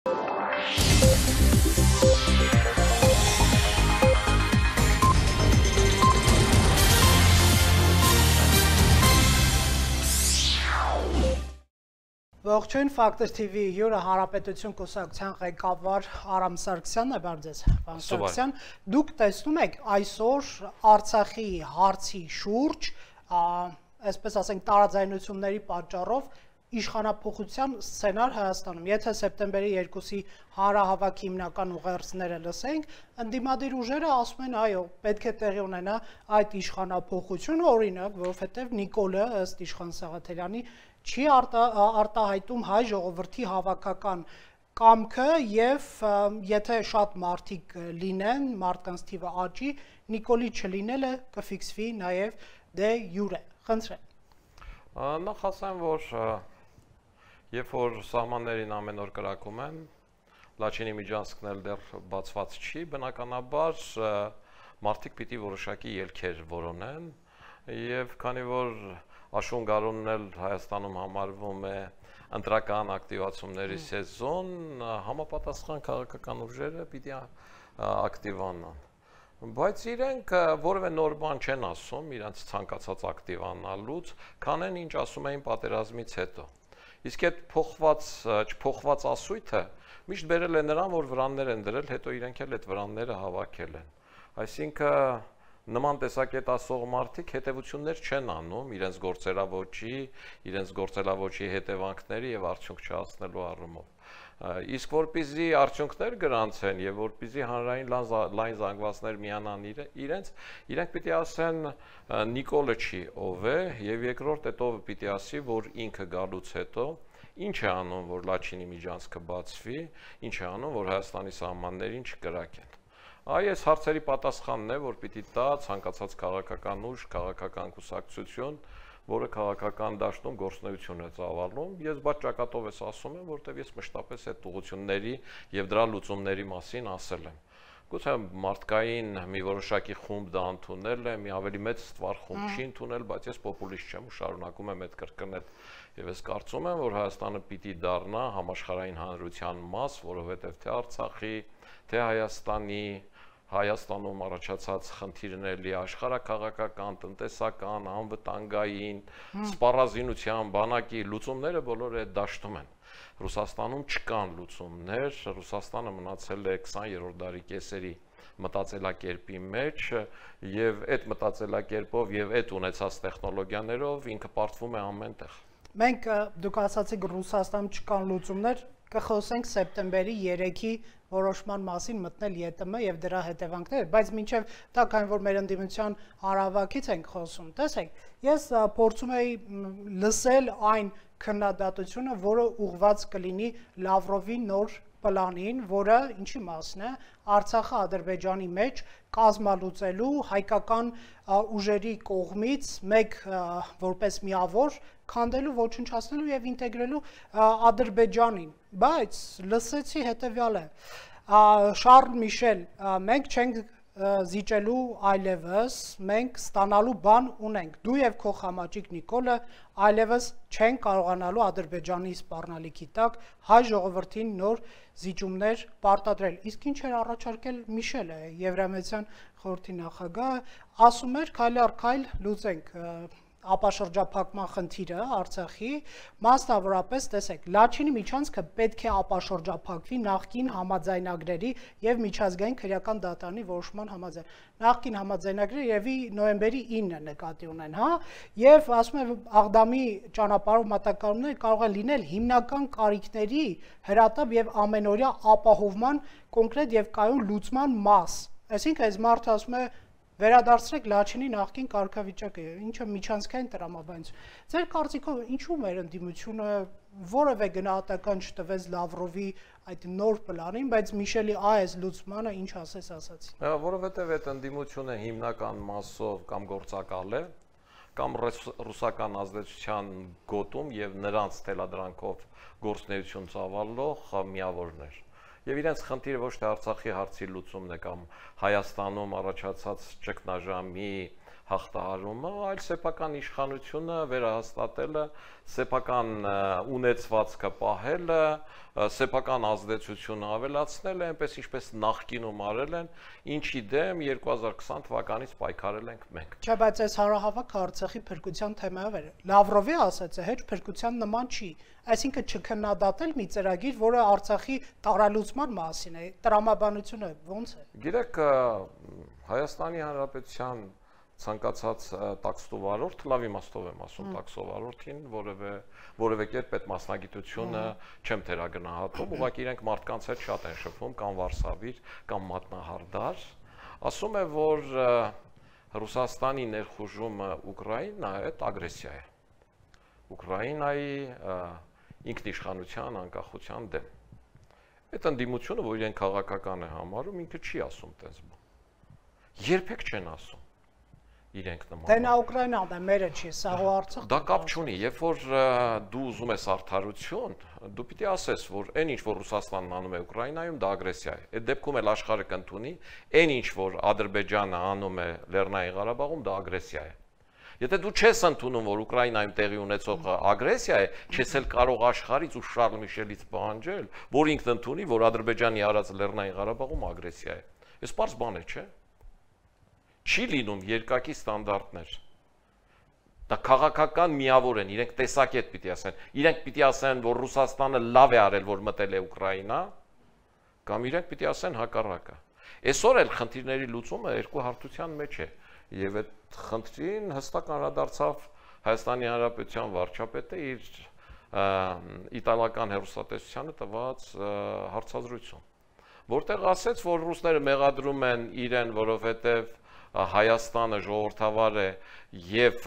Ողջույն Factor TV հյուրը Հանրապետություն կուսակցության ղեկավար Արամ Սարգսյանն է, բարև ձեզ, պարոն Սարգսյան։ Դուք տեսնում եք այսօր Արցախի հարցի շուրջ, այսպես ասենք, տարաձայնությունների պատճառով իշխանափոխության սցենար Հայաստանում։ Եթե սեպտեմբերի 2-ի հանրահավաքի հիմնական ուղերձները լսենք, ընդդիմադիր ուժերը ասում են, այո, պետք է տեղի ունենա այդ իշխանափոխությունը, օրինակ, որովհետև Նիկոլը ըստ Իշխան Սաղաթելյանի չի արտահայտում հայ ժողովրդի հավաքական կամքը եւ եթե շատ մարդիկ լինեն, մարդկանց թիվը աճի, Նիկոլի չլինելը կֆիքսվի նաեւ դե յուրե։ Խնդրեմ։ Նախ ասեմ, որ երբ որ սահմաններին ամեն օր կրակում են, Լաչինի միջանցքն էլ դեռ բացված չի, բնականաբար մարդիկ պիտի որոշակի ելքեր որոնեն եւ քանի որ Աշուն-գարունն էլ Հայաստանում համարվում է ընտրական ակտիվացումների սեզոն, համապատասխան քաղաքական ուժերը պիտի ակտիվանան։ Բայց իրենք որևէ նոր բան չեն ասում իրենց ցանկացած ակտիվանալուց, քանեն ինչ ասում էին պատերազմից հետո։ Իսկ այդ չփոխված ասույթը միշտ բերել է նրան, որ վրաններ են դրել, հետո իրենք էլ այդ վրանները հավաքել են։ Այսինքն նման տեսակետ ասող մարդիկ հետևություններ չեն անում իրենց գործելավոճի հետևանքների եւ արդյունք չհասնելու առումով։ Իսկ որպեսզի արդյունքներ գրանցեն եւ որպեսզի հանրային լայն զանգվածներ միանան իրենք պիտի ասեն Նիկոլը չի ով է եւ երկրորդ այդ ովը պիտի ասի, որ ինքը գալուց հետո ինչ է անում, որ Լաչինի միջանցքը բացվի, ինչ է անում, որ Հայաստանի սահմաններին չկրակեն։ Այս հարցերի պատասխանն է, որ պիտի տա ցանկացած քաղաքական ուժ, քաղաքական կուսակցություն, որը քաղաքական դաշտում գործունեություն է ծավալում։ Ես բաց ճակատով ես ասում եմ, որտեղ ես մշտապես այդ ուղղությունների եւ դրա լուծումների մասին ասել եմ։ Գուցե մարդկային մի որոշակի խումբ դա ընդունել է, մի ավելի մեծ ստվար խումբ չի ընդունել, բայց ես պոպուլիստ չեմ ու շարունակում եմ այդ կրկնել եւ ես կարծում եմ, որ Հայաստանը պիտի դառնա համաշխարհային հանրության մաս, որովհետեւ թե Արցախի, թե Հայաստանում առաջացած խնդիրների աշխարհակաղակական, տնտեսական, անվտանգային, սպառազինության, բանակի լուծումները բոլորը այդ դաշտում են։ Ռուսաստանում չկան լուծումներ, Ռուսաստանը մնացել է 20-րդ դարի կեսերի մտածելակերպի մեջ եւ այդ մտածելակերպով եւ այդ ունեցած տեխնոլոգիաներով ինքը պարտվում է ամենտեղ։ Մենք դուք ասացիք Ռուսաստանում չկան լուծումներ, կխոսենք սեպտեմբերի 3-ի որոշման մասին մտնել ԵՏՄ եւ դրա հետևանքները, բայց մինչեւ դա քանի որ մեր ընդդիմության հանրահավաքից ենք խոսում, տեսեք, ես փորձում եի լսել այն քննադատությունը, որը ուղղված կլինի Լավրովի նոր պլանին, որը ինչի մասն է Արցախը Ադրբեջանի մեջ կազմալուծելու հայկական ուժերի կողմից մեկ որպես միավոր քանդելու, ոչնչացնելու եւ ինտեգրելու Ադրբեջանին, բայց լսեցի հետեւյալը Շարլ Միշել, մենք չենք զիջելու այլևս, մենք ստանալու բան ունենք, դու եւ քո խամաճիկ Նիկոլը այլևս չեն կարողանալու Ադրբեջանի սպառնալիքի տակ հայ ժողովրդին նոր զիջումներ պարտադրել։ Իսկ ինչ էր առաջարկել Միշելը, Եվրամեդիան խորհրդի նախագահը, ասում էր քայլ առ քայլ լուծենք ապաշրջափակման խնդիրը Արցախի, մասնավորապես տեսեք, Լաչինի միջանցքը պետք է ապաշրջափակվի նախկին համաձայնագրերի եւ միջազգային քրեական դատարանի որոշման համաձայն։ Նախկին համաձայնագրերը երևի նոյեմբերի 9-ը նկատի ունեն, հա, եւ ասում եմ Աղդամի ճանապարհով մատակարարումները կարող են լինել հիմնական կարիքների հրատապ եւ ամենօրյա ապահովման կոնկրետ եւ կայուն լուծման մաս։ Այսինքն այս մարդը ասում է վերադարձրեք Լաչինի նախկին կարգավիճակը, ինչը միջանցքային տրամաբանություն։ Ձեր կարծիքով ինչու մեր ընդդիմությունը որևէ գնահատական չտվեց Լավրովի այդ նոր պլանին, բայց Միշելի այս լուծմանը ինչ ասացի։ Որովհետև այդ ընդդիմությունը հիմնական մասով կամ գործակալ է, կամ ռուսական ազդեցության գոտում եւ նրանց թելադրանքով գործունեություն ծավալող միավորներ։ Եվ իրենց խնդիրը ոչ թե Արցախի հարցի լուծումն է կամ Հայաստանում առաջացած ճգնաժամի հաղթահարումը, այլ սեփական իշխանությունը վերահաստատելը, սեփական ունեցվածքը պահելը, սեփական ազդեցությունը ավելացնելը, այնպես ինչպես նախկինում արել են, ինչի դեմ 2020 թվականից պայքարել ենք մենք։ Չէ, բայց այս հարահավաքը Արցախի փրկության թեմայով էր։ Լավրովի ասած է, հեչ փրկության նման չի։ Այսինքն չքննադատել մի ծրագիր, որը Արցախի տարալուծման մասին է, տրամաբանությունը ո՞նց է։ Գիտեք, Հայաստանի Հանրապետության ցանկացած տաքստովարորդ, լավ իմաստով եմ ասում տաքստովարորդին, որևէ կերպ այդ մասնագիտությունը չեմ թերագնահատում, ուղղակի իրենք մարդկանց հետ շատ են շփվում, կամ վարսավիր, կամ մատնահարդար, ասում է, որ Ռուսաստանի ներխուժումը Ուկրաինա այդ ագրեսիա է։ Ուկրաինայի ինքնիշխանության, անկախության դեմ։ Այդ ընդդիմությունը, որ իրեն քաղաքական է համարում, ինքը չի ասում տես բան։ Երբեք չեն ասում իրենք նման։ Դե նա Ուկրաինան է, մերը չի, սա հո Արցախ։ Դա կապ չունի, երբ որ դու ուզում ես արդարություն, դու պիտի ասես, որ այն ինչ որ Ռուսաստանն անում է Ուկրաինայում, դա ագրեսիա է։ Այդ դեպքում էլ աշխարհը կընդունի, այն ինչ որ Ադրբեջանը անում է Լեռնային Ղարաբաղում, դա ագրեսիա է։ Եթե դու չես ընդունում, որ Ուկրաինայում տեղի ունեցողը ագրեսիա է, չես էլ կարող աշխարհից ու Շարլ Միշելից պահանջել, որ ինքն ընդունի, որ Ադրբեջանի արած Լեռնային Ղարաբաղում ագրեսիա է։ Այս պարզ բան է, չէ՞։ Չի լինում երկակի ստանդարտներ։ Դա քաղաքական միավոր են, իրենք տեսակետ պիտի ասեն։ Իրենք պիտի ասեն, որ Ռուսաստանը լավ է արել, որ մտել է Ուկրաինա, կամ իրենք պիտի ասեն հակառակը։ Այսօր էլ խնդիրների լուծումը երկու հարթության մեջ է, եւ այդ խնդրին հստակ անդրադարձավ Հայաստանի Հանրապետության վարչապետը իր իտալական հեռուստատեսությանը տված հարցազրույցում, որտեղ ասեց, որ ռուսները մեղադրում են իրեն, որովհետեւ Հայաստանը ժողովրդավար է եւ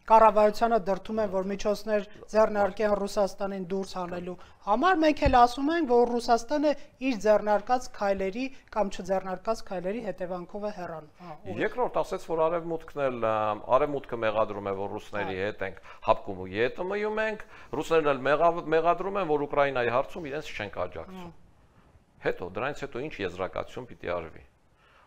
կառավարությանը դրդում են, որ միջոցներ ձեռնարկեն Ռուսաստանին դուրս հանելու համար, մենք էլ ասում ենք, որ Ռուսաստանը իր ձեռնարկած քայլերի կամ չձեռնարկած քայլերի հետևանքով է հեռանում։ Երկրորդ ասեց, որ արևմուտքը մեղադրում է, որ ռուսների հետ ենք հապկում ու ԵՏՄ-ում ենք, ռուսներն էլ մեղադրում են, որ Ուկրաինայի հարցում իրենց չենք աջակցում։ Հետո դրանից հետո ինչ եզրակացություն պիտի արվի։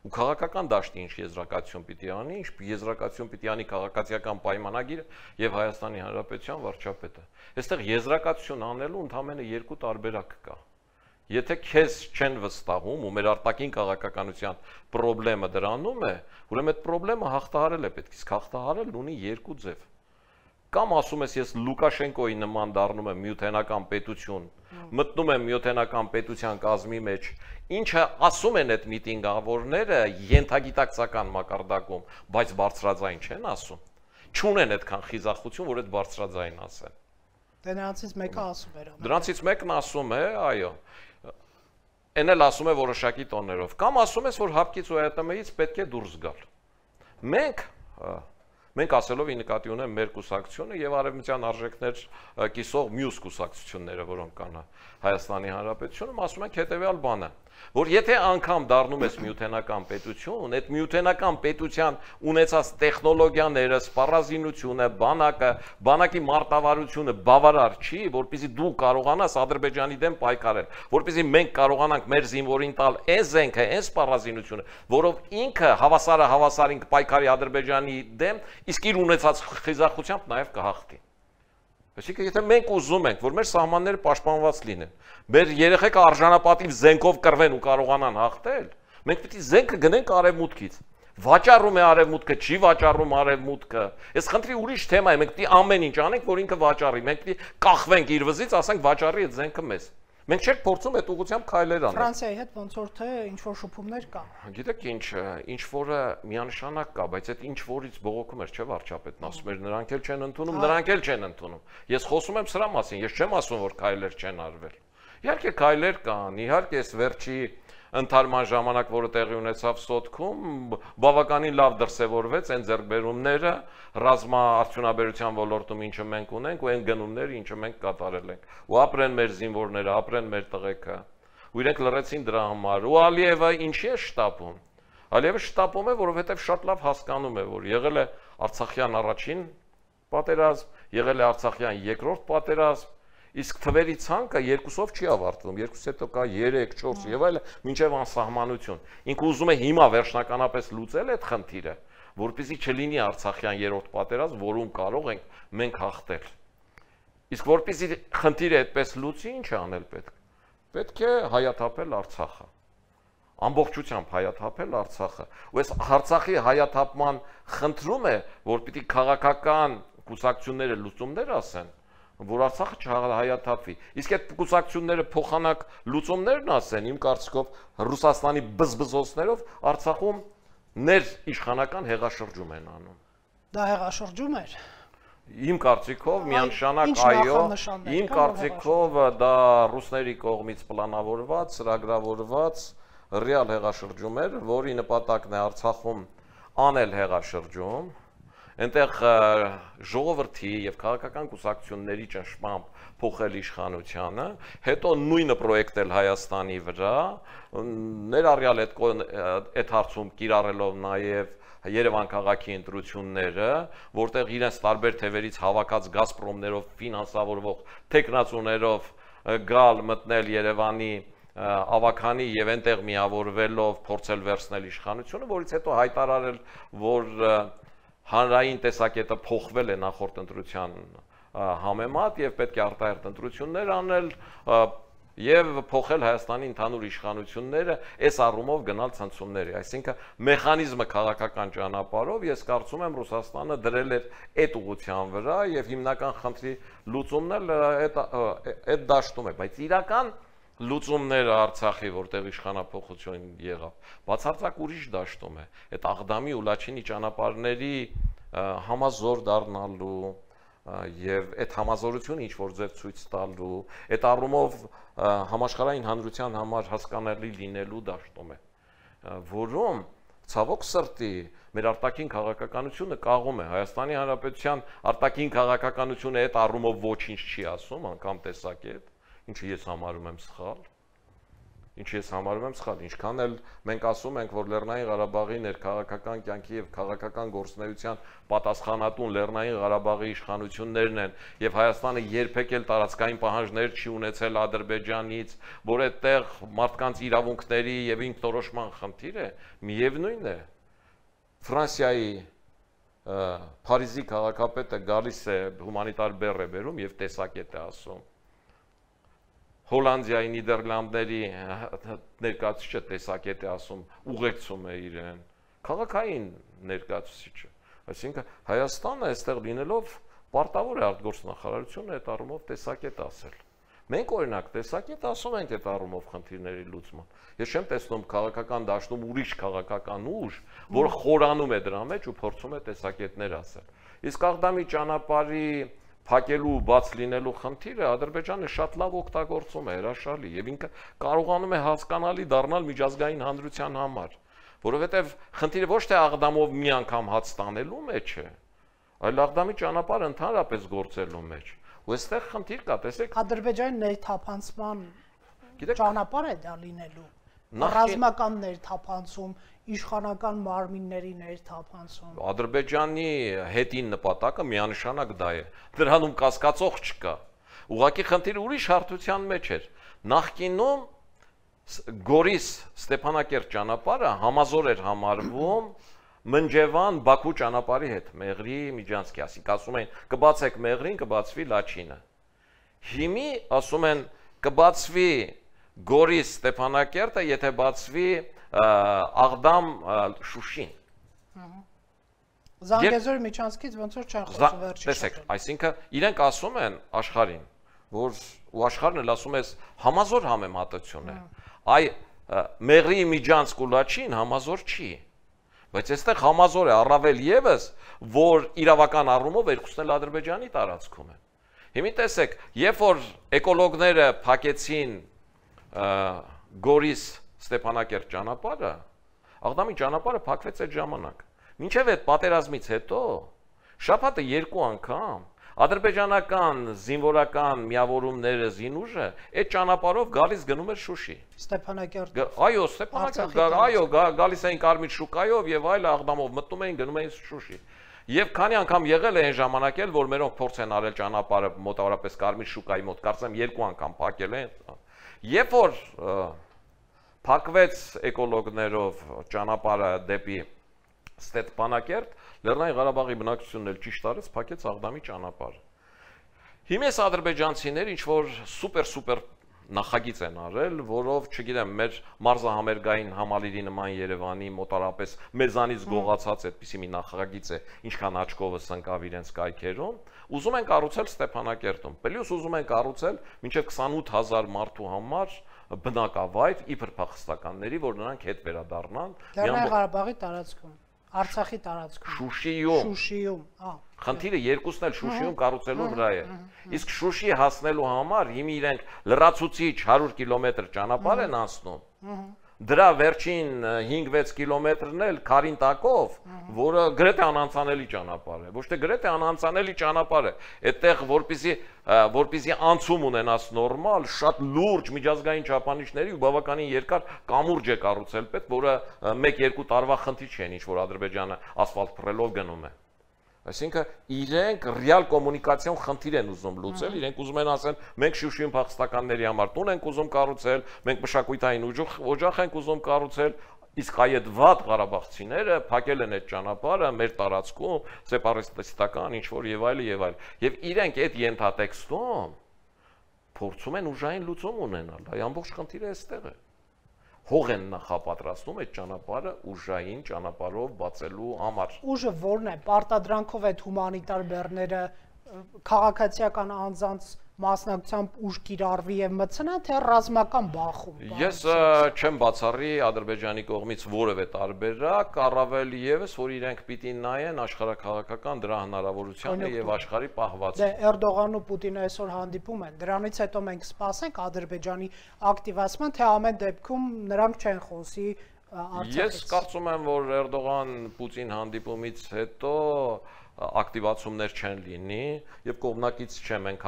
Ու քաղաքական դաշտի ինչ եզրակացություն պիտի անի, ինչ եզրակացություն պիտի անի քաղաքացիական պայմանագիրը եւ Հայաստանի Հանրապետության վարչապետը։ Այստեղ եզրակացություն անելու ընդամենը երկու տարբերակ կա։ Եթե քեզ չեն վստահում ու մեր արտաքին քաղաքականության խնդրեմը դրանում է, ուրեմն այդ խնդրեմը հաղթահարել է պետք, իսկ հաղթահարելն ունի երկու ձև։ Կամ ասում ես ես Լուկաշենկոյի նման դառնում եմ միութենական պետություն, մտնում եմ միութենական պետության կազմի մեջ, ինչը ասում են այդ միտինգավորները ենթագիտակցական մակարդակում, բայց բարձրաձայն չեն ասում, չունեն այդքան խիզախություն, որ այդ բարձրաձայն ասեն։ Դե նրանցից մեկը ասում էր։ Դրանցից մեկն ասում է, այո, այն էլ ասում է որոշակի տոներով, կամ ասում ես, որ հապկից ու ԵՏՄ-ից պետք է դուրս գալ։ Մենք ասելով ի նկատի ունեմ մեր կուսակցությունը եւ արևմտյան արժեքներ կիսող մյուս կուսակցությունները, որոնք կան Հայաստանի Հանրապետությունում, ասում ենք հետեւյալ բանը, որ եթե անգամ դառնում ես միութենական պետություն, այդ միութենական պետության ունեցած տեխնոլոգիաները, սպառազինությունը, բանակի մարտավարությունը բավարար չի, որպեսզի դու կարողանաս Ադրբեջանի դեմ պայքարել, որպեսզի մենք կարողանանք մեր զինվորին տալ այն զենքը, այն սպառազինությունը, որով ինքը հավասարին կպայքարի Ադրբեջանի դեմ, իսկ իր ունեցած խիզախությամբ նաև կհաղթի։ Այսինքն, եթե մենք ուզում ենք, որ մեր սահմանները պաշտպանված լինեն, մեր երեխեքը արժանապատիվ զենքով կռվեն ու կարողանան հաղթել, մենք պետք է զենքը գնենք արևմուտքից։ Վաճառում է արևմուտքը, չի վաճառում արևմուտքը։ Այս խնդրի ուրիշ թեմա է, մենք պետք է ամեն ինչ անենք, որ ինքը վաճառի։ Մենք պետք է կախվենք իր վզից, ասենք վաճառի այդ զենքը մեզ։ Մենք չենք փորձում այդ ուղղությամբ քայլեր անել։ Ֆրանսիայի հետ ոնց որ թե ինչ որ շփումներ կա։ Գիտեք ինչ որը միանշանակ կա, բայց այդ ինչ որից բողոքում էր, չէ՞ վարչապետն ասում էր, նրանք էլ չեն ընդունում, նրանք էլ չեն ընդունում։ Ես խոսում եմ սրա մասին, ես չեմ ասում, որ քայլեր չեն արվել։ Իհարկե քայլեր կան, իհարկե այս վերջի ընթարման ժամանակ, որը տեղի ունեցավ Սոտքում, բավականին լավ դրսևորվեց այն ձեռքբերումները ռազմաարդյունաբերության ոլորտում, ինչը մենք ունենք, ու այն գնումները, ինչը մենք կատարել ենք։ Ու ապրեն մեր զինվորները, ապրեն մեր տղեկը։ Ու իրենք լռեցին դրա համար։ Ու Ալիևը ինչի է շտապում։ Ալիևը շտապում է, որովհետև շատ լավ հասկանում է, որ եղել է Արցախյան առաջին պատերազմ, եղել է Արցախյան երկրորդ պատերազմ, իսկ թվերի ցանկը երկուսով չի ավարտվում, երկուս հետո կա 3, 4 եւ այլն, մինչեւ անսահմանություն։ Ինքը ուզում է հիմա վերջնականապես լուծել այդ խնդիրը, որպեսզի չլինի Արցախյան երրորդ պատերազմ, որում կարող ենք մենք հաղթել։ Իսկ որպեսզի խնդիրը այդպես լուծի, ինչ անել պետք։ Պետք է հայաթափել Արցախը։ Ամբողջությամբ հայաթափել Արցախը։ Ու այս Արցախի հայաթափման խնդրում է, որ պիտի քաղաքական կուսակցությունները լուծումներ ասեն, որ Արցախը չհայաթափվի։ Իսկ այդ կուսակցությունները փոխանակ լուծումներն ասեն, իմ կարծիքով Ռուսաստանի բզբզոցներով Արցախում ներիշխանական հեղաշրջում են անում։ Դա հեղաշրջում էր։ Իմ կարծիքով միանշանակ այո, իմ կարծիքով դա ռուսների կողմից պլանավորված, ծրագրավորված ռեալ հեղաշրջում էր, որի նպատակն է Արցախում անել հեղաշրջում, այնտեղ ժողովրդի եւ քաղաքական կուսակցությունների ճնշմամբ փոխել իշխանությանը, հետո նույնը պրոյեկտել Հայաստանի վրա, ներառյալ այդ հարցում կիրառելով նաեւ Երևան քաղաքի ընտրությունները, որտեղ իրենց տարբեր թևերից հավաքած Գազպրոմներով ֆինանսավորվող տեխնացուներով գալ մտնել Երևանի ավականի եւ այնտեղ միավորվելով փորձել վերցնել իշխանությունը, որից հետո հայտարարել, որ հանրային տեսակետը փոխվել է նախորդ ընտրության համեմատ եւ պետք է արտահերթ ընտրություններ անել եւ փոխել Հայաստանի ընդհանուր իշխանությունները, այս առումով գնալ ցնցումների, այսինքն մեխանիզմը քաղաքական ճանապարհով ես կարծում եմ Ռուսաստանը դրել էր այդ ուղղության վրա եւ հիմնական խնդրի լուծումն էլ այդ դաշտում է, բայց իրական լուծումները Արցախի, որտեղ իշխանափոխություն եղավ, բացարձակ ուրիշ դաշտում է, այդ Աղդամի ու Լաչինի ճանապարհների համազոր դառնալու եւ այդ համազորությունը ինչ որ ձև ցույց տալու, այդ առումով համաշխարհային հանրության համար հասկանալի լինելու դաշտում է, որում ցավոք սրտի մեր արտաքին քաղաքականությունը կաղում է, Հայաստանի Հանրապետության արտաքին քաղաքականությունը այդ առումով ոչինչ չի ասում, անգամ տեսակետ, ինչը ես համարում եմ սխալ, ինչքան էլ մենք ասում ենք, որ Լեռնային Ղարաբաղի ներքաղաքական կյանքի եւ քաղաքական գործունեության պատասխանատուն Լեռնային Ղարաբաղի իշխանություններն են եւ Հայաստանը երբեք էլ տարածքային պահանջներ չի ունեցել Ադրբեջանից, որ այդտեղ մարդկանց իրավունքների եւ ինքնորոշման խնդիր է, միևնույն է Ֆրանսիայի Փարիզի քաղաքապետը գալիս է հումանիտար բեռ է բերում եւ տեսակետ է ասում Հոլանդիայի, Նիդերլանդների ներկայացուցիչը տեսակետ է ասում, ուղեկցում է իրեն, քաղաքային ներկայացուցիչը, այսինքն Հայաստանը այստեղ լինելով պարտավոր է արտգործնախարարությունը այդ առումով տեսակետ ասել։ Մենք օրինակ տեսակետ ասում ենք այդ առումով խնդիրների լուծման։ Ես չեմ տեսնում քաղաքական դաշտում ուրիշ քաղաքական ուժ, որ խորանում է դրա մեջ ու փորձում է տեսակետներ ասել։ Իսկ Աղդամի ճանապարհի փակելու բաց լինելու խնդիրը Ադրբեջանը շատ լավ օգտագործում է, հրաշալի, եւ ինքը կարողանում է հասկանալի դառնալ միջազգային հանրության համար, որովհետեւ խնդիրը ոչ թե Աղդամով մի անգամ հաց տանելու մեջ է, այլ Աղդամի ճանապարհը ընդհանրապես գործելու մեջ։ Ու այստեղ խնդիր կա, տեսեք, Ադրբեջանի ներթափանցման ճանապարհ է դա լինելու։ Ռազմական ներթափանցում, իշխանական մարմինների ներթափանցում։ Ադրբեջանի հետին նպատակը միանշանակ դա է։ Դրանում կասկածող չկա։ Ուղղակի խնդիրը ուրիշ հարթության մեջ էր։ Նախկինում Գորիս-Ստեփանակերտ ճանապարհը համազոր էր համարվում Մնջևան-Բաքու ճանապարհի հետ, Մեղրի, Միջանցքի, ասիկ ասում են կբացեք Մեղրին, կբացվի Լաչինը։ Հիմի ասում են կբացվի Գորիս-Ստեփանակերտը, եթե բացվի Աղդամ-Շուշին։ Զանգեզուր Միջանցքից ոնց որ չեն խոսում վերջի։ Տեսեք, այսինքն իրենք ասում են աշխարհին, որ ու աշխարհն էլ ասում է համազոր համեմատություն է։ Այ Մեղրի, Միջանցք ու Լաչին համազոր չի։ Բայց այստեղ համազոր է առավել եւս, որ իրավական առումով երկուսն էլ Ադրբեջանի տարածքում են։ Հիմա տեսեք, երբ որ էկոլոգները փակեցին Գորիս-Ստեփանակերտ ճանապարհը, Աղդամի ճանապարհը փակվեց այդ ժամանակ։ Մինչև այդ պատերազմից հետո շաբաթը 2 անգամ ադրբեջանական զինվորական միավորումները զինուժը այդ ճանապարհով գալիս գնում էր Շուշի։ Ստեփանակերտ։ Այո, Ստեփանակերտ, այո, գալիս էին Կարմիր շուկայով եւ այլ Աղդամով մտնում էին գնում էին Շուշի։ Եվ քանի անգամ եղել է այն ժամանակ էլ, որ մերոնք փորձ են արել ճանապարհը մոտավորապես Կարմիր շուկայի մոտ, կարծեմ 2 անգամ փակել են։ Երբ որ փակվեց էկոլոգներով ճանապարհը դեպի Ստեփանակերտ, Լեռնային Ղարաբաղի բնակչությունն էլ ճիշտ արեց, փակեց Աղդամի ճանապարհը։ Հիմա ադրբեջանցիները ինչ որ սուպեր նախագիծ են արել, որով, չգիտեմ, մեր մարզահամերգային համալիրի նման Երևանի մոտարապես մեզանից գողացած այդպիսի մի նախագիծ է, ինչքան աչքովս ընկավ իրենց կայքերում, ուզում են կառուցել Ստեփանակերտում։ Պլյուս ուզում են կառուցել մինչև 28000 մարդու համար բնակավայր իբր փախստականների, որ նրանք հետ վերադառնան Լեռնային Ղարաբաղի տարածքում, Արցախի տարածքում, Շուշիում, Խնդիրը երկուսն էլ Շուշիում կառուցելու վրա է։ Իսկ Շուշի հասնելու համար հիմա իրենք լրացուցիչ 100 կիլոմետր ճանապարհ են անցնում։ Դրա վերջին 5-6 կիլոմետրն էլ քարին տակով, որը գրեթե անանցանելի ճանապարհ է։ Ոչ թե գրեթե անանցանելի ճանապարհ է։ Այդտեղ որպեսզի անցում ունենաս նորմալ, շատ լուրջ միջազգային չափանիշների ու բավականին երկար կամուրջ է կառուցել պետք, որը 1-2 տարվա խնդիր չէ, ինչ որ Ադրբեջանը ասֆալտ փռելով գնում է։ Այսինքն իրենք ռեալ կոմունիկացիոն խնդիր են ուզում լուծել, իրենք ուզում են ասեն, մենք Շուշիում փախստականների համար տուն ենք ուզում կառուցել, մենք մշակութային օջախ ենք ուզում կառուցել, իսկ այդ վատ ղարաբաղցիները փակել են այդ ճանապարհը մեր տարածքում, սեպարատիստական ինչ որ եւ այլ եւ այլ։ Եվ իրենք այդ ենթատեքստում փորձում են ուժային լուծում ունենալ, այ ամբողջ խնդիրը այստեղ է։ Հող են նախապատրաստում այդ ճանապարհը ուժային ճանապարհով բացելու համար։ Ուժը ո՞րն է, պարտադրանքով այդ հումանիտար բեռները քաղաքացիական անձանց մասնակցությամբ ուժ կիրառվի եւ մտցնա, թե ռազմական բախում։ Ես չեմ բացառի Ադրբեջանի կողմից որևէ տարբերակ, առավել եւս, որ իրենք պիտի նայեն աշխարհակաղակական դրա հնարավորությանը եւ աշխարհի պահվածքը։ Դե Էրդողանն ու Պուտինը այսօր հանդիպում են։ Դրանից հետո մենք սպասենք Ադրբեջանի ակտիվացման, թե ամեն դեպքում նրանք չեն խոսի Արցախից։ Ես կարծում եմ, որ Էրդողան-Պուտին հանդիպումից հետո ակտիվացումներ չեն լինի եւ կողմնակից չեմ ենք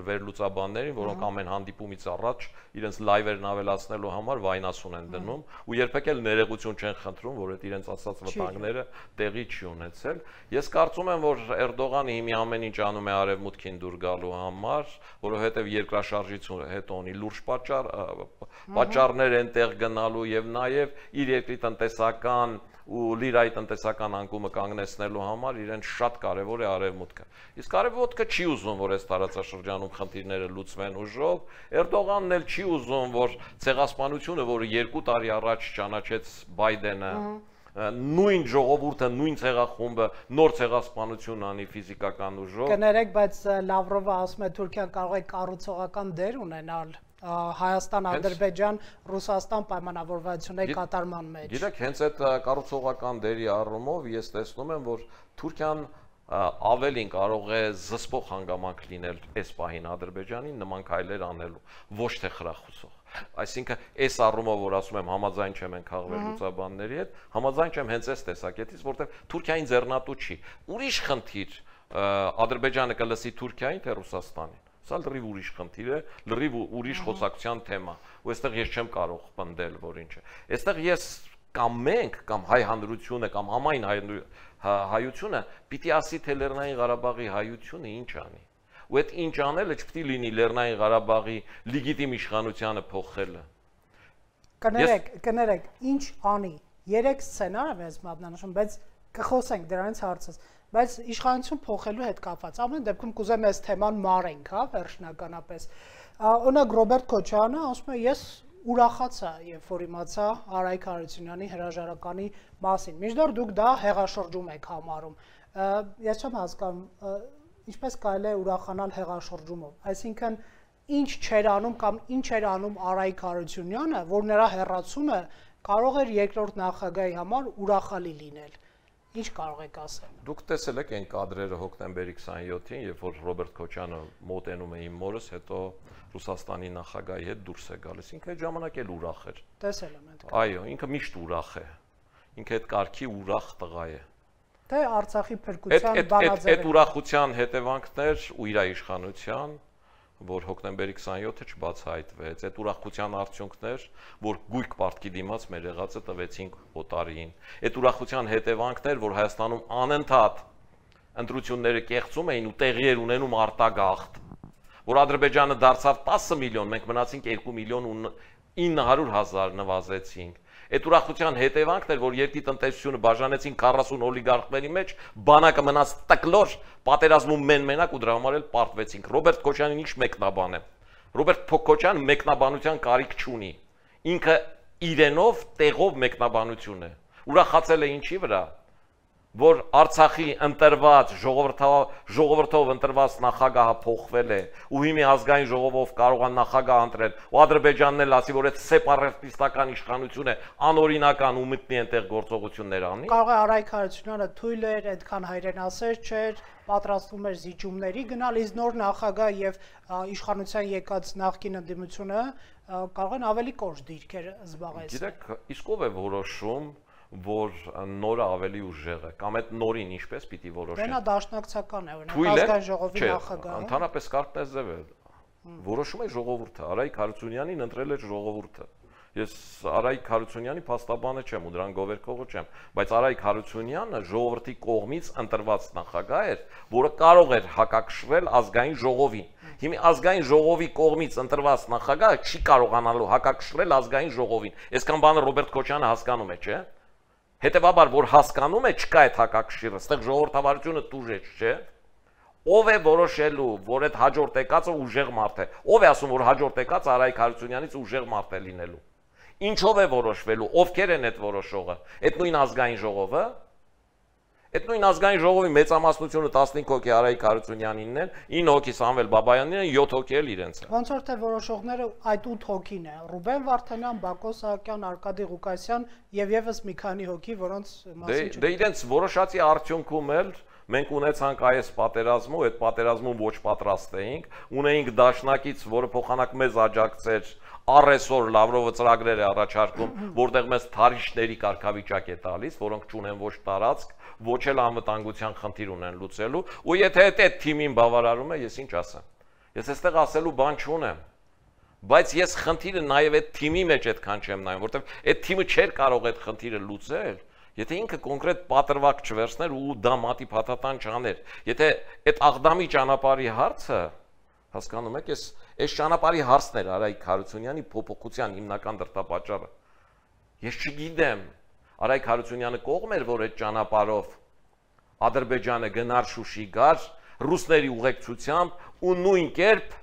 վերլուծաբաններին, որոնք ամեն հանդիպումից առաջ իրենց լայվերն ավելացնելու համար վայնասուն են դնում ու երբեք էլ ներողություն չեն խնդրում, որ այդ իրենց ասած վտանգները տեղի չի ունեցել։ Ես կարծում եմ, որ Էրդողանը հիմա ամեն ինչ անում է արևմուտքին դուր գալու համար, որովհետեւ երկրաշարժից հետո ունի լուրջ պատճառներ են տեղ գնալու եւ նաեւ իր երկրի տնտեսական ու լիրայի տնտեսական անկումը կանգնեցնելու համար իրեն շատ կարևոր է արևմուտքը։ Իսկ արևմուտքը չի ուզում, որ այս տարածաշրջանում խնդիրները լուծվեն ուժով, Էրդողանն էլ չի ուզում, որ ցեղասպանությունը, որը 2 տարի առաջ ճանաչեց Բայդենը, նույն ժողովուրդը, նույն ցեղախումբը նոր ցեղասպանություն անի ֆիզիկական ուժով։ Կներեք, բայց Լավրովը ասում է Թուրքիան կարող է կառուցողական դեր ունենալ Հայաստան, Ադրբեջան, Ռուսաստան պայմանավորվածությունների կատարման մեջ։ Գիտեք, հենց այդ կառուցողական դերի առումով ես տեսնում եմ, որ Թուրքիան ավելին կարող է զսպող հանգամանք լինել այս պահին Ադրբեջանին նման քայլեր անելու, ոչ թե խրախուսող։ Այսինքն այս առումով, որ ասում եմ համաձայն չեմ ենք խաղվել լուծաբանների հետ, համաձայն չեմ հենց այս տեսակետից, որտեղ Թուրքիային ձեռնատու չի։ Ուրիշ խնդիր Ադրբեջանը կլսի Թուրքիային, թե Ռուսաստանին։ Սա լրիվ ուրիշ խնդիր է, լրիվ ուրիշ խոսակցության թեմա։ Ու այստեղ ես չեմ կարող պնդել, որ ինչ է։ Այստեղ ես կամ մենք, կամ հայ հանրությունը, կամ համայն հայությունը պիտի ասի, թե Լեռնային Ղարաբաղի հայությունը ինչ անի։ Ու այդ ինչ անելը չպիտի լինի Լեռնային Ղարաբաղի լեգիտիմ իշխանությանը փոխելը։ Կներեք, ինչ անի։ 3 սցենար է մատնանշում, բայց կխոսենք դրանից հարցից։ Բայց իշխանություն փոխելու հետ կապված ամեն դեպքում կուզեմ այս թեման մարենք, հա, վերջնականապես։ Օրինակ Ռոբերտ Քոչարյանը ասում է, ես ուրախացա, երբ որ իմացա Արայք Հարությունյանի հրաժարականի մասին։ Մինչդեռ դուք դա հեղաշրջում եք համարում։ Ես չեմ հասկանում, ինչպես կարելի է ուրախանալ հեղաշրջումով։ Այսինքն ինչ չեր անում կամ ինչ էր անում Արայք Հարությունյանը, որ նրա հեռացումը կարող էր երկրորդ նախագահի համար ուրախալի լինել։ Ինչ կարող եք ասել։ Դուք տեսել եք այն կադրերը հոկտեմբերի 27-ին, երբ որ Ռոբերտ Քոչյանը մոտենում է իմ մորս, հետո Ռուսաստանի նախագահի հետ դուրս է գալիս։ Ինքը այդ ժամանակ էլ ուրախ էր։ Տեսել եմ այդ։ Այո, ինքը միշտ ուրախ է։ Ինքը այդ կարգի ուրախ տղա է։ Թե Արցախի փրկության բանաձև։ Այդ ուրախության հետևանքներ ու իր իշխանության, որ հոկտեմբերի 27-ը չբացահայտվեց, այդ ուրախության արդյունքներ, որ գույք պարտքի դիմաց մեր եղածը տվեցինք օտարին, այդ ուրախության հետևանքներ, որ Հայաստանում անընդհատ ընտրությունները կեղծում էին ու տեղի էր ունենում արտագաղթ, որ Ադրբեջանը դարձավ 10 միլիոն, մենք մնացինք 2 միլիոն 900,000 նվազեցինք։ Այդ ուրախության հետևանքն էր, որ երկրի տնտեսությունը բաժանեցին 40 օլիգարխների մեջ, բանակը մնաց տկլոր, պատերազմում մենակ ու դրա համար էլ պարտվեցինք։ Ռոբերտ Քոչյանին ինչ մեկնաբան է։ Ռոբերտ Քոչյանը մեկնաբանության կարիք չունի։ Ինքը իրենով տեղով մեկնաբանություն է։ Ուրախացել է ինչի վրա, որ Արցախի ընտրված ժողովրդով ընտրված նախագահը փոխվել է ու հիմա ազգային ժողովով կարող է նախագահ ընտրել ու Ադրբեջանն էլ ասի, որ այդ սեպարատիստական իշխանություն է, անօրինական ու մտնի այնտեղ գործողություններ անի։ Կարող է Արայք Հարությունյանը թույլ էր, այդքան հայրենասեր չէր, պատրաստվում էր զիջումների գնալ, իսկ նոր նախագահ եւ իշխանության եկած նախկին ընդդիմությունը կարող են ավելի կոշտ դիրքեր զբաղեցնել։ Գիտեք, իսկ ով է որոշում, որ նորը ավելի ուժեղ է, կամ այդ նորին ինչպես պիտի որոշեն։ Դա դաշնակցական է, օրինակ ազգային ժողովի նախագահը։ Ընդհանրապես կարտնեզև է։ Որոշում է ժողովուրդը, Արայք Հարությունյանին ընտրել է ժողովուրդը։ Ես Արայք Հարությունյանի փաստաբանը չեմ ու դրան գովերքողը չեմ, բայց Արայք Հարությունյանը ժողովրդի կողմից ընտրված նախագահ էր, որը կարող էր հակակշռել ազգային ժողովին։ Հիմա ազգային ժողովի կողմից ընտրված նախագահը չի կարողանալու հակակշռել ազգային ժողովին։ Այսքան բանը Ռոբերտ Քոչյանը հասկանում է, չէ՞։ Հետևաբար, որ հասկանում է, չկա այդ հակակշիռը, այստեղ ժողովրդավարությունը տուժեց, չէ՞։ Ով է որոշելու, որ այդ հաջորդ եկածը ուժեղ մարդ է։ Ով է ասում, որ հաջորդ եկածը Արայք Հարությունյանից ուժեղ մարդ է լինելու։ Ինչով է որոշվելու, ովքեր են այդ որոշողը։ Այդ նույն ազգային ժողովը։ Այդ նույն ազգային ժողովի մեծամասնությունը 15 հոգի Արայք Հարությունյանինն են, 9 հոգի Սամվել Բաբայանին են, 7 հոգի էլ իրենց են։ Ոնց որ թե որոշողները այդ 8 հոգին է՝ Ռուբեն Վարդանյան, Բակո Սահակյան, Արկադի Ղուկասյան եւ եւս մի քանի հոգի, որոնց մասին Դե իրենց որոշածի արդյունքում էլ մենք ունեցանք այս պատերազմը, այդ պատերազմում ոչ պատրաստ էինք, ունեինք դաշնակից, որը փոխանակ մեզ աջակցեր, առեսօր Լավրովը ծրագրեր է առաջարկում, որտեղ մեզ թարիշների կարգավիճակ է տալիս, որոնք չունեն ոչ տարածք, ոչ էլ անվտանգության խնդիր ունեն լուծելու, ու եթե այդ թիմին բավարարում է, ես ինչ ասեմ։ Ես այստեղ ասելու բան չունեմ, բայց ես խնդիրը նաև այդ թիմի մեջ այդքան չեմ նայում, որտեղ այդ թիմը չէր կարող այդ խնդիրը լուծել, եթե ինքը կոնկրետ պատրվակ չվերցներ ու դա մատի փաթաթան չաներ, եթե այդ աղդամի ճանապարհի հարցը, հասկանում եք, այս ճանապարհի հարցն էր Արայք Հարությունյանի փոփոխության հիմնական դրդապատճառը։ Ես չգիտեմ, Արայք Հարությունյանը կողմ էր, որ այդ ճանապարհով Ադրբեջանը գնար Շուշի գար ռուսների ուղեկցությամբ ու նույն կերպ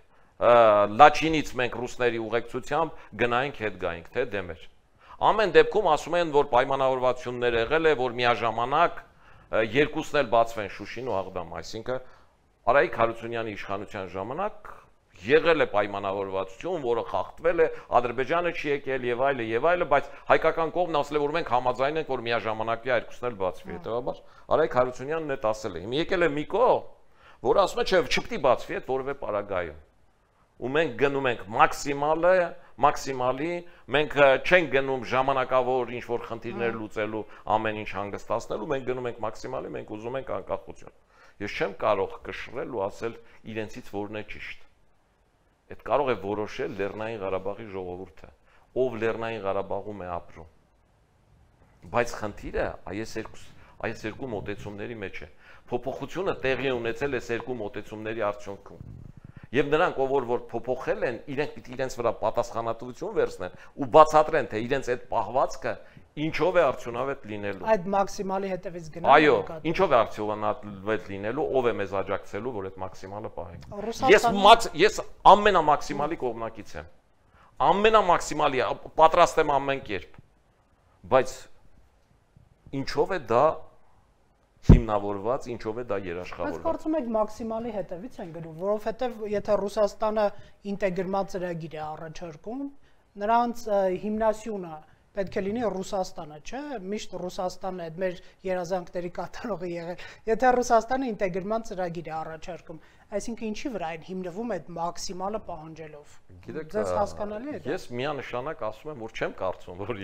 Լաչինից մենք ռուսների ուղեկցությամբ գնայինք հետ գայինք, թե դեմ էր։ Ամեն դեպքում ասում են, որ պայմանավորվածություններ եղել է, որ միաժամանակ երկուսն էլ բացվեն Շուշին ու Աղդամ, այսինքն Արայք Հարությունյանի իշխանության ժամանակ եղել է պայմանավորվածություն, որը խախտվել է, Ադրբեջանը չի եկել եւ այլը, բայց հայկական կողմն ասել է, որ մենք համաձայն ենք, որ միաժամանակի երկուսն էլ բացվի, հետեւաբար Արայք Հարությունյանն էդ ասել է։ Հիմա եկել է մի կողմ, որը ասում է, չէ, չպետք է բացվի այդ որևէ պարագայում։ Ու մենք գնում ենք մաքսիմալի, մենք չենք գնում ժամանակավոր ինչ-որ խնդիրներ լուծելու, ամեն ինչ հանգստացնելու, մենք գնում ենք մաքսիմալի, մենք ուզում ենք անկախություն։ Ես չեմ կարող կշռել ու ասել իրենցից որն է ճիշտ։ Այդ կարող է որոշել Լեռնային Ղարաբաղի ժողովուրդը, ով Լեռնային Ղարաբաղում է ապրում։ Բայց խնդիրը այս երկու մոտեցումների մեջ է։ Փոփոխությունը տեղի ունեցել է երկու մոտեցումների արդյունքում։ Եվ նրանք, որ փոփոխել են, իրենք պիտի իրենց վրա պատասխանատվություն վերցնեն ու բացատրեն, թե իրենց այդ պահվածքը ինչով է արդյունավետ լինելու։ Այդ մաքսիմալի հետևից գնալու։ Այո, ինչով է արդյունավետ լինելու, ով է մեզ աջակցելու, որ այդ մաքսիմալը պահենք։ Ես ամենամաքսիմալի կողմնակից եմ։ Ամենամաքսիմալի, պատրաստ եմ ամեն կերպ։ Բայց ինչով է դա հիմնավորված, ինչով է դա երաշխավորված։ Բայց կարծում եք մաքսիմալի հետևից են գնում, որովհետև եթե Ռուսաստանը ինտեգրման ծրագիր է առաջարկում, նրանց հիմնասյունը պետք է լինի Ռուսաստանը, չէ՞։ Միշտ Ռուսաստանն է այդ մեր երազանքների կատարողը եղել։ Եթե Ռուսաստանը ինտեգրման ծրագիր է առաջարկում, այսինքն ինչի վրա են հիմնվում այդ մաքսիմալը պահանջելով։ Ձեզ հասկանալի է դա։ Ես միանշանակ ասում եմ, որ չեմ կարծում, որ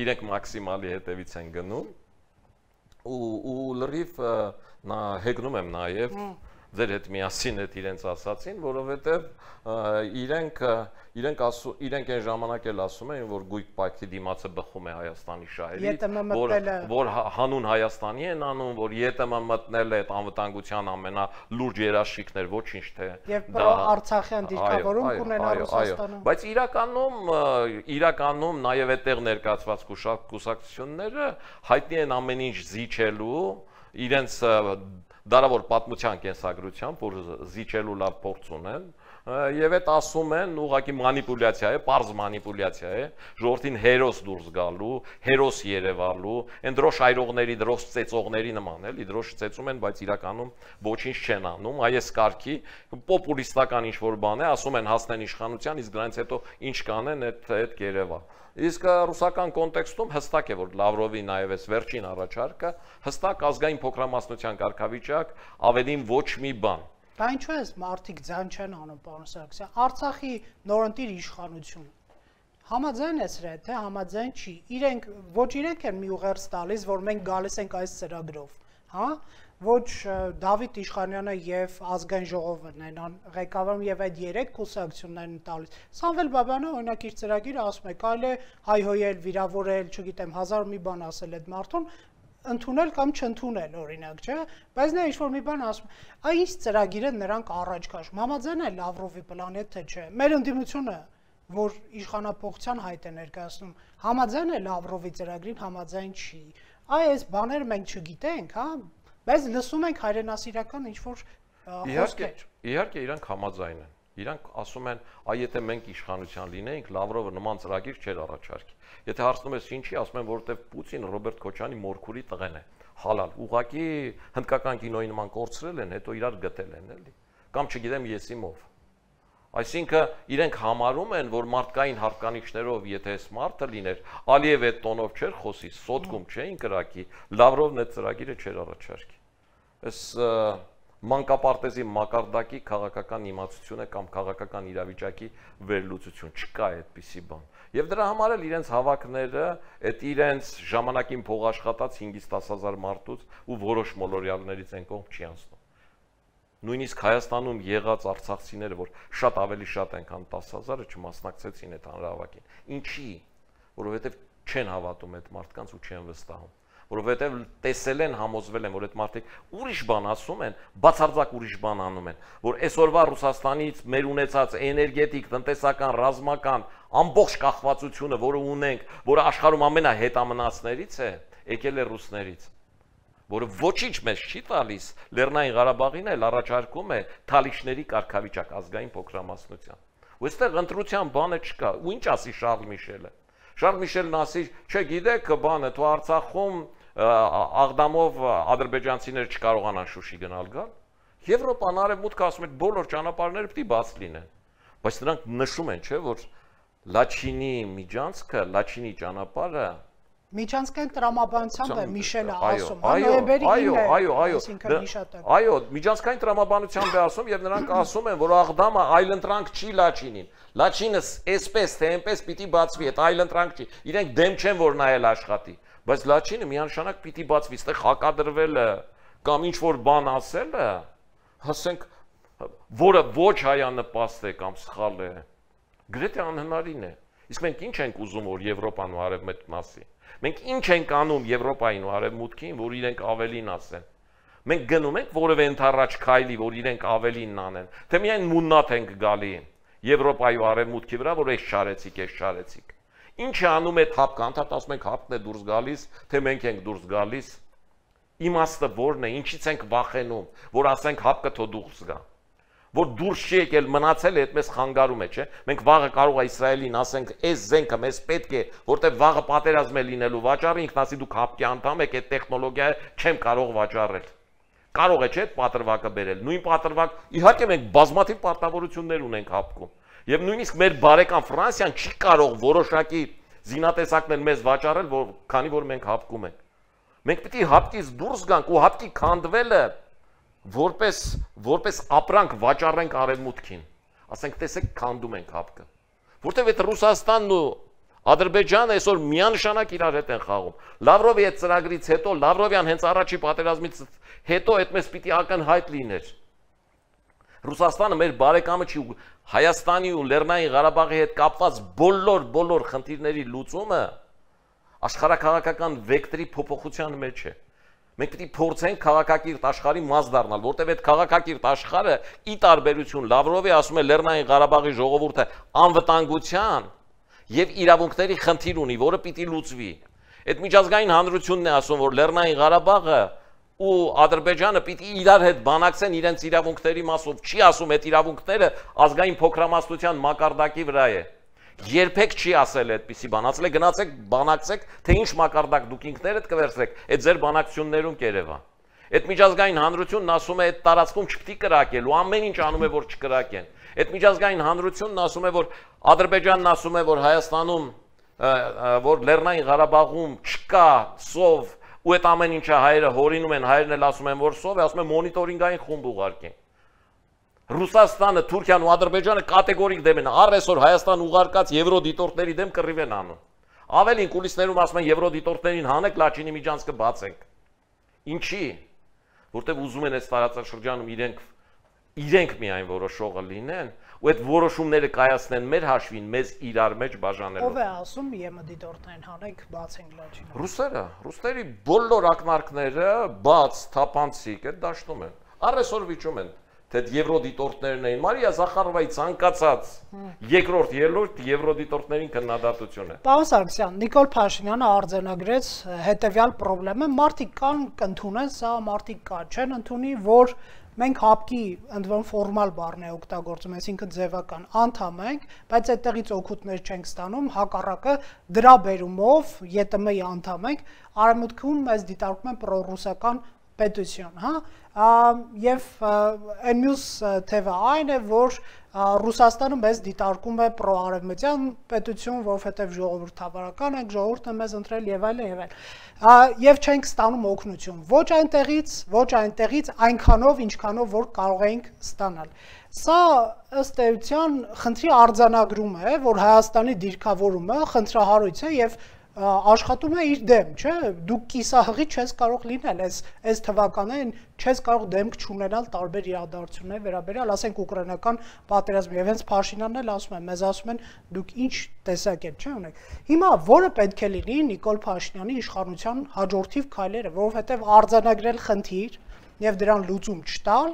իրենք մաքսիմալի հետևից են գնում։ Ու լրիվ հեգնում եմ նաև ձեր հետ միասին այդ իրենց ասացին, որովհետև իրենք իրենք այն ժամանակ էլ ասում էին, որ գույք պայքի դիմացը բխում է Հայաստանի շահերից, որ հանուն Հայաստանի են անում, որ ԵՏՄ մտնել է այդ անվտանգության ամենալուրջ երաշխիքներ, ոչինչ թե եւ Արցախյան դիրքավորում կունենա Ռուսաստանը։ Բայց իրականում նաև այդտեղ ներկայացված կուսակցությունները հայտնի են ամեն ինչ զիջելու իրենց դարավոր պատմության կենսագրությամբ, որ զիջելու լավ փորձ ունեն եւ այդ ասում են ուղղակի մանիպուլյացիա է, պարզ մանիպուլյացիա է, ժողովրդին հերոս դուրս գալու, հերոս երևալու, այն դրոշ այրողների, դրոշ ծեծողների նման էլի, դրոշ ծեծում են, բայց իրականում ոչինչ չեն անում, այս կարգի պոպուլիստական ինչ-որ բան է, ասում են հասնեն իշխանության, իսկ դրանից հետո ինչ կանեն, այդ կերևա։ Իսկ ռուսական կոնտեքստում հստակ է, որ Լավրովի նաև այս վերջին առաջարկը հստակ ազգային փոքրամասնության կարգավիճակ, ավելին ոչ մի բան։ Դա ինչու է մարդիկ ձայն չեն անում, պարոն Սարգսյան, Արցախի նորընտիր իշխանությունը համաձայն է սրա, թե համաձայն չի, ոչ իրենք են մի ուղերձ տալիս, որ մենք գալիս ենք այս ծրագրով, հա, ոչ Դավիթ Իշխանյանը եւ ազգային ժողովն են ղեկավարում եւ այդ 3 կուսակցություններն են տալիս։ Սամվել Բաբյանը օրինակ իր ծրագիրը ասում է, կարելի է հայհոյել, վիրավորել, չգիտեմ, 1000 մի բան ասել այդ մարդուն, ընդունել կամ չընդունել օրինակ, չէ՞, բայց նա ինչ-որ մի բան ասում, այ ինչ ծրագիրը նրանք առաջ քաշում, համաձայն է Լավրովի պլանի, թե չէ։ Մեր ընդդիմությունը, որ իշխանապողության հայտ է ներկայացնում, համաձայն է Լավրովի ծրագրին, համաձայն չի։ Այս բաները մենք չգիտենք, հա, բայց լսում ենք հայրենասիրական ինչ-որ խոսքեր։ Իհարկե իրանք համաձայն են։ Իրանք ասում են, այ եթե մենք իշխանության լինեինք, Լավրովը նման ծրագիր չէր առաջարկի։ Եթե հարցնում ես ինչի, ասում են, որովհետև Պուտին Ռոբերտ Քոչյանի մորքուրի տղեն է, հալալ։ Ուղղակի հնդկական կինոյի նման կորցրել են, հետո իրար գտել են, էլի։ Կամ չգիտեմ եսիմով։ Այսինքն իրենք համարում են, որ մարդկային հատկանիշներով, եթե այս մարդը լիներ, Ալիև այդ տոնով չէր խոսի, սոտկում չէին կրակի, Լավրովն այդ ծրագիրը չէր առաջարկի։ Այս մանկապարտեզի մակարդակի քաղաքական իմացությունը կամ քաղաքական իրավիճակի վերլուծություն չկա այդպիսի բան։ Եվ դրա համար էլ իրենց հավաքները, այդ իրենց ժամանակին փողաշխատած 5-ից 10,000 մարդուց ու որոշ մոլորյալներից են կողմ չի անցնում։ Նույնիսկ Հայաստանում եղած արցախցիները, որ շատ ավելի շատ են, քան 10,000-ը չմասնակցեցին այդ հանրահավաքին։ Ինչի՞, որովհետև չեն հավատում այդ մարդկանց ու չեն վստահում, որովհետև տեսել են, համոզվել են, որ այդ մարդիկ ուրիշ բան ասում են, բացարձակ ուրիշ բան անում են, որ այսօրվա Ռուսաստանից մեր ունեցած էներգետիկ, տնտեսական, ռազմական ամբողջ կախվածությունը, որը ունենք, որը աշխարհում ամենահետամնացներից է, եկել է ռուսներից, որը ոչինչ մեզ չի տալիս, Լեռնային Ղարաբաղին էլ առաջարկում է թալիշների կարգավիճակ ազգային փոքրամասնության։ Ու այստեղ ընտրության բանը չկա։ Ու ինչ ասի Շարլ Միշելը։ Շարլ Միշելն ասի, չէ, գիտեք, բանը, թու Արցախում աղդամով ադրբեջանցիներ չկարողանան Շուշի գնալ գալ։ Եվրոպան, Արևմուտքը ասում է, բոլոր ճանապարհները պետք է բաց լինեն։ Բայց նրանք նշում են, չէ, որ Լաչինի միջանցքը, Լաչինի ճանապարհը Միջանցքային տրամաբանությամբ է Միշելը ասում, նոյեմբերի 9-ը, այո, միջանցքային տրամաբանությամբ է ասում եւ նրանք ասում են, որ աղդամը այլընտրանք չի Լաչինին։ Լաչինը այսպես թե այնպես պիտի բացվի, այդ այլընտրանք չի։ Իրենք դեմ չեն, որ նա էլ աշխատի, բայց Լաչինը միանշանակ պիտի բացվի, այստեղ հակադրվելը կամ ինչ որ բան ասելը, ասենք, որը ոչ հայանպաստ է կամ սխալ է, գրեթե անհնարին է։ Իսկ մենք ինչ ենք ուզում, որ Եվրոպան ու Արևմուտքն ասի։ Մենք ինչ ենք անում Եվրոպային ու Արևմուտքին, որ իրենք ավելին ասեն։ Մենք գնում ենք որևէ ընդառաջ քայլի, որ իրենք ավելին անեն, թե միայն մուննաթ ենք գալի Եվրոպայի ու Արևմուտքի վրա, որ այս շարեցիք։ Ինչ է անում այդ հապկը, անդադ ասում ենք հապկն է դուրս գալիս, թե մենք ենք դուրս գալիս։ Իմաստը որն է, ինչից ենք վախենում, որ ասենք հապկը թո դուրս գա։ Որ դուրս չի եկել, մնացել է, այդպես խանգարում է, չէ՞։ Մենք վաղը կարող է Իսրայելին ասենք, այս զենքը մեզ պետք է, որտեղ վաղը պատերազմ է լինելու վաճառը, ինքն ասի դուք հապկի անդամ եք, այդ տեխնոլոգիա չեմ կարող վաճառել։ Կարող է, չէ՞, այդ պատրվակը բերել։ Նույն պատրվակ, իհարկե մենք բազմաթիվ պարտավորություններ ունենք հապկում։ Եվ նույնիսկ մեր բարեկամ Ֆրանսիան չի կարող որոշակի զինատեսակներ մեզ վաճառել, քանի որ մենք հապկում ենք։ Մենք պետք է հապկից դուրս գանք ու հապկի քանդվելը որպես ապրանք վաճառենք Արևմուտքին, ասենք տեսեք քանդում ենք հապկը, որտեվ այդ Ռուսաստանն ու Ադրբեջանը այսօր միանշանակ իրար հետ են խաղում։ Լավրովի այդ ծրագրից հետո, Լավրովյան հենց առաջի պատերազմից հետո այդպես պիտի ակնհայտ լիներ։ Ռուսաստանը մեր բարեկամը չի, Հայաստանի ու Լեռնային Ղարաբաղի հետ կապված բոլոր խնդիրների լուծումը աշխարհակաղակական վեկտորի փոփոխության մեջ է։ Մենք պետք է փորձենք քաղաքակիրթ աշխարհի մաս դառնալ, որտեղ այդ քաղաքակիրթ աշխարհը ի տարբերություն Լավրովի ասում է Լեռնային Ղարաբաղի ժողովուրդը անվտանգության եւ իրավունքների խնդիր ունի, որը պիտի լուծվի։ Այդ միջազգային հանրությունն է ասում, որ Լեռնային Ղարաբաղը ու Ադրբեջանը պիտի իրար հետ բանակցեն իրենց իրավունքների մասով, չի ասում այդ իրավունքները ազգային փոքրամասնության մակարդակի վրա է։ Երբեք չի ասել այդպիսի բան, ասել է գնացեք բանակցեք, թե ինչ մակարդակ դուք ինքներդ կվերցրեք, այդ ձեր բանակցություններում կերևա։ Այդ միջազգային հանրությունն ասում է այդ տարածքում չպիտի կրակել ու ամեն ինչ անում է որ չկրակեն։ Այդ միջազգային հանրությունն ասում է որ Ադրբեջանն ասում է որ Հայաստանում որ Լեռնային Ղարաբաղում չկա սով ու այդ ամեն ինչը հայերը հորինում են, հայերն էլ ասում են որ սով է, ասում են մոնիտորինգային խումբ ուղարկեն։ Ռուսաստանը, Թուրքիան ու Ադրբեջանը կատեգորիկ դեմ են, առ այսօր Հայաստան ուղարկած եվրոդիտորդների դեմ կռիվ են անում։ Ավելին կուլիսներում ասում են եվրոդիտորդներին հանեք Լաչինի միջանցքը բացենք։ Ինչի՞։ Որտեվ ուզում են այս տարածաշրջանում իրենք միայն որոշողը լինեն ու այդ որոշումները կայացնեն մեր հաշվին, մեզ իրար մեջ բաժանելով։ Ով է ասում ԵՄ-դիտորդներին հանեք բացենք Լաչինը։ Ռուսերը, ռուսների բոլոր ակնարկները բաց, թափանցիկ այդ դաշտում են։ Առ այսօր վիճում են թե եվրոդիտորդներն էին Մարիա Զախարովայի ցանկացած երկրորդ ելույթ եվրոդիտորդներին քննադատություն է։ Պարոն Սարգսյան, Նիկոլ Փաշինյանը արձանագրեց հետևյալ խնդրը, մարդիկ կան կընդունեն, սա մարդիկ կա, չեն ընդունի, որ մենք հապկի ընդվան ֆորմալ բառն է օգտագործում, այսինքն ձևական անդամ ենք, բայց այդտեղից օգուտներ չենք ստանում, հակառակը դրա բերումով ԵՏՄ-ի անդամ ենք, արևմուտքում մեզ դիտարկում են պրոռուսական պետություն, հա, եւ այն մյուս թևը այն է, որ Ռուսաստանը մեզ դիտարկում է պրոարևմտյան պետություն, որովհետեւ ժողովրդավարական ենք, ժողովուրդը մեզ ընտրել եւ այլն, եւ չենք ստանում օգնություն, ոչ այնտեղից այնքանով, ինչքանով որ կարող ենք ստանալ։ Սա ըստ էության խնդրի արձանագրում է, որ Հայաստանի դիրքավորումը խնդրահարույց է եւ աշխատում է իր դեմ, չէ՞, դուք կիսահղի չես կարող լինել, այս թվականներին չես կարող դեմք չունենալ տարբեր իրադարձությունների վերաբերյալ, ասենք ուկրաինական պատերազմը, եւ հենց Փաշինյանն էլ ասում է, մեզ ասում են դուք ինչ տեսակետ չէ ունեք։ Հիմա որը պետք է լինի Նիկոլ Փաշինյանի իշխանության հաջորդիվ քայլերը, որովհետեւ արձանագրել խնդիր եւ դրան լուծում չտալ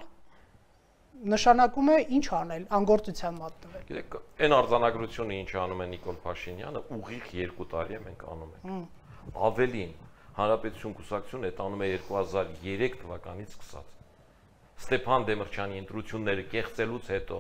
նշանակում է ինչ անել, անգործության մատնվել։ Գիտեք, այն արձանագրությունը ինչ անում է Նիկոլ Փաշինյանը, ուղիղ 2 տարի է մենք անում ենք։ Ավելին, Հանրապետություն կուսակցությունը այդ անում է 2003 թվականից սկսած։ Ստեփան Դեմիրճյանի ընտրությունները կեղծելուց հետո,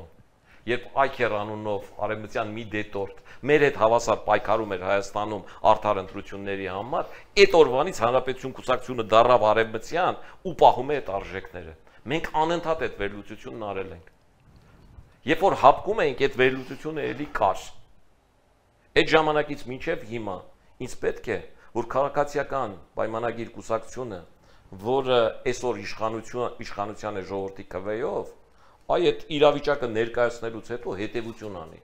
երբ Այքեր անունով արևմտյան մի դետորտ մեր հետ հավասար պայքարում էր Հայաստանում արդար ընտրությունների համար, այդ օրվանից Հանրապետություն կուսակցությունը դառավ արևմտյան ու պահում է այդ արժեքները։ Մենք անընդհատ այդ վերլուծությունն արել ենք։ Երբ որ հապկում ենք, այդ վերլուծությունը էլի կար։ Այդ ժամանակից մինչև հիմա ինձ պետք է, որ քաղաքացիական պայմանագիր կուսակցությունը, որը այսօր իշխանության է ժողովրդի քվեով, այդ իրավիճակը ներկայացնելուց հետո հետևություն անի։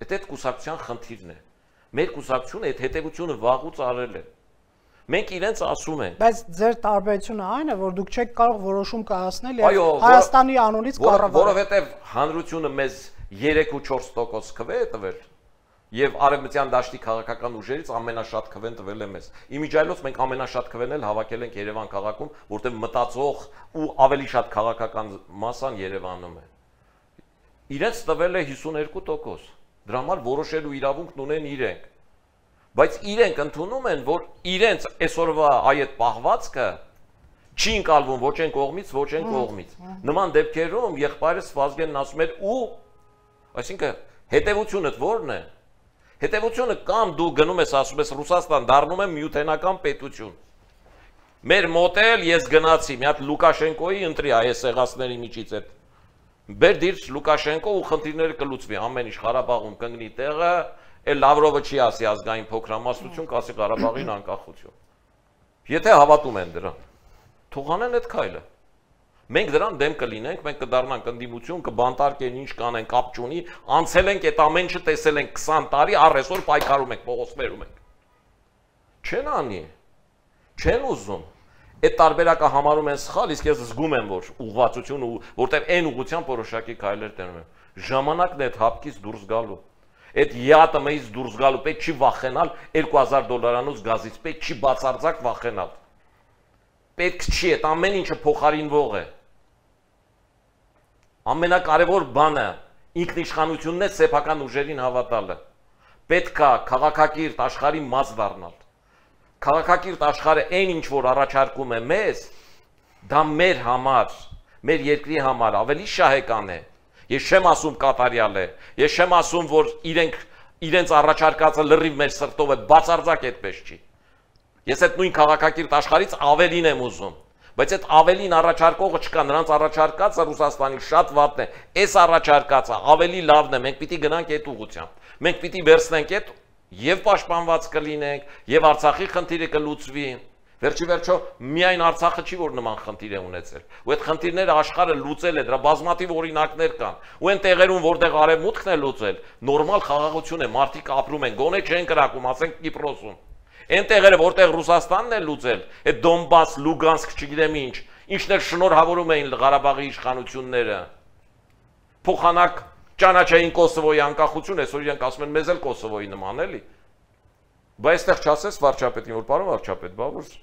Այդ կուսակցության խնդիրն է։ Մեր կուսակցությունը այդ հետևությունը վաղուց արել է։ Մենք իրենց ասում ենք։ Բայց ձեր տարբերությունը այն է, որ դուք չեք կարող որոշում կայացնել եւ Հայաստանի անունից կառավարել։ Որովհետեւ հանրությունը մեզ 3 ու 4% քվե է տվել եւ արևմտյան դաշտի քաղաքական ուժերից ամենաշատ քվեն տվել է մեզ։ Իմիջիայլոց մենք ամենաշատ քվեն էլ հավաքել ենք Երևան քաղաքում, որտեղ մտածող ու ավելի շատ քաղաքական մասան Երևանում է։ Իրենց տվել է 52%։ Դրա համար որոշելու իրավունքն ունեն իրենք։ Բայց իրենք ընդունում են, որ իրենց այսօրվա այդ պահվածքը չի ընկալվում ոչ այն կողմից, ոչ այն կողմից։ Նման դեպքերում եղբայրս Վազգենն ասում էր ու այսինքն հետևությունը ո՞րն է։ Հետևությունը կամ դու գնում ես ասում ես Ռուսաստան դառնում է միութենական պետություն։ Մեր մոդել ես գնացի, մի հատ Լուկաշենկոյի ընտրի այս եղածների միջից այդ։ Բեր դիր Լուկաշենկո ու խնդիրները կլուծվի, ամեն ինչ Ղարաբաղում կընկնի տեղը, էլ Լավրովը չի ասի ազգային փոքրամասնություն, կասի Ղարաբաղին անկախություն։ Եթե հավատում են դրան, թող անեն այդ քայլը։ Մենք դրան դեմ կլինենք, մենք կդառնանք ընդդիմություն, կբանտարկեն ինչ կանեն, կապ չունի, անցել ենք այդ ամեն ինչը տեսել ենք 20 տարի, առ այսօր պայքարում ենք, փողոցներում ենք։ Չեն անի։ Չեն ուզում։ Այդ տարբերակը համարում են սխալ, իսկ ես զգում եմ, որ ուղղվածություն ու որտեղ այն ուղղությամբ որոշակի քայլեր տենում են։ Ժամանակն է այդ հապկից դուրս գալու։ Այդ ԵԱՏՄ-ից դուրս գալու պետք չի վախենալ $2000 գազից, պետք չի բացարձակ վախենալ։ Պետք չի, այդ ամեն ինչը փոխարինվող է։ Ամենակարևոր բանը ինքնիշխանությունն է սեփական ուժերին հավատալը։ Պետք է քաղաքակիրթ աշխարհի մաս դառնալ։ Քաղաքակիրթ աշխարհը այն ինչ որ առաջարկում է մեզ, դա մեր համար, մեր երկրի համար ավելի շահեկան է։ Ես չեմ ասում կատարյալ է, ես չեմ ասում որ իրենց առաջարկածը լրիվ մեր սրտով է, բացարձակ այդպես չի։ Ես այդ նույն քաղաքակիրթ աշխարհից ավելին եմ ուզում, բայց այդ ավելին առաջարկողը չկա, նրանց առաջարկածը Ռուսաստանի շատ վատն է, այս առաջարկածը ավելի լավն է, մենք պիտի գնանք այդ ուղղությամբ։ Մենք պիտի վերցնենք այդ եւ պաշտպանված կլինենք, եւ Արցախի խնդիրը կլուծվի։ Վերջի վերջո միայն Արցախը չի որ նման խնդիր է ունեցել։ Ու այդ խնդիրները աշխարհը լուծել է, դրա բազմաթիվ օրինակներ կան։ Ու այն տեղերում, որտեղ արևմուտքն է լուծել, նորմալ խաղաղություն է, մարդիկ ապրում են, գոնե չեն կրակում, ասենք Կիպրոսում։ Այն տեղերը, որտեղ Ռուսաստանն է լուծել, այդ Դոնբաս, Լուգանսկ, չգիտեմ ինչ, ինչներ շնորհավորում էին Ղարաբաղի իշխանությունները։ Փոխանակ ճանաչային Կոսովոյի անկախություն, այսօր իրենք ասում են մեզ էլ Կոսովոյի նման էլի։ Բայց այստեղ չասես վարչապետին, որ պարոն վարչապետ, բա որ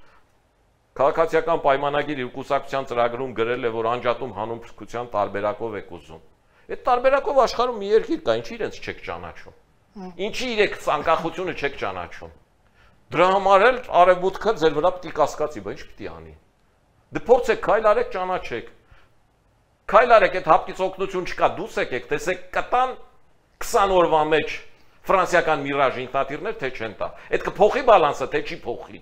քաղաքացիական պայմանագիր իր կուսակցության ծրագրում գրել է, որ անջատում հանուն փրկության տարբերակով եք ուզում։ Այդ տարբերակով աշխարհում մի երկիր կա, ինչի իրենց չեք ճանաչում։ Ինչի իրեք անկախությունը չեք ճանաչում։ Դրա համար էլ արևմուտքը ձեր վրա պիտի կասկածի, բայց ինչ պիտի անի։ Դե փորձեք քայլ արեք, ճանաչեք։ Քայլ արեք, այդ հապկից օգնություն չկա, դուս եկեք, տեսեք կտան 20 օրվա մեջ ֆրանսիական Mirage ինքնաթիռներ թե չեն տա։ Այդ կփոխի բալանսը, թե չի փոխի։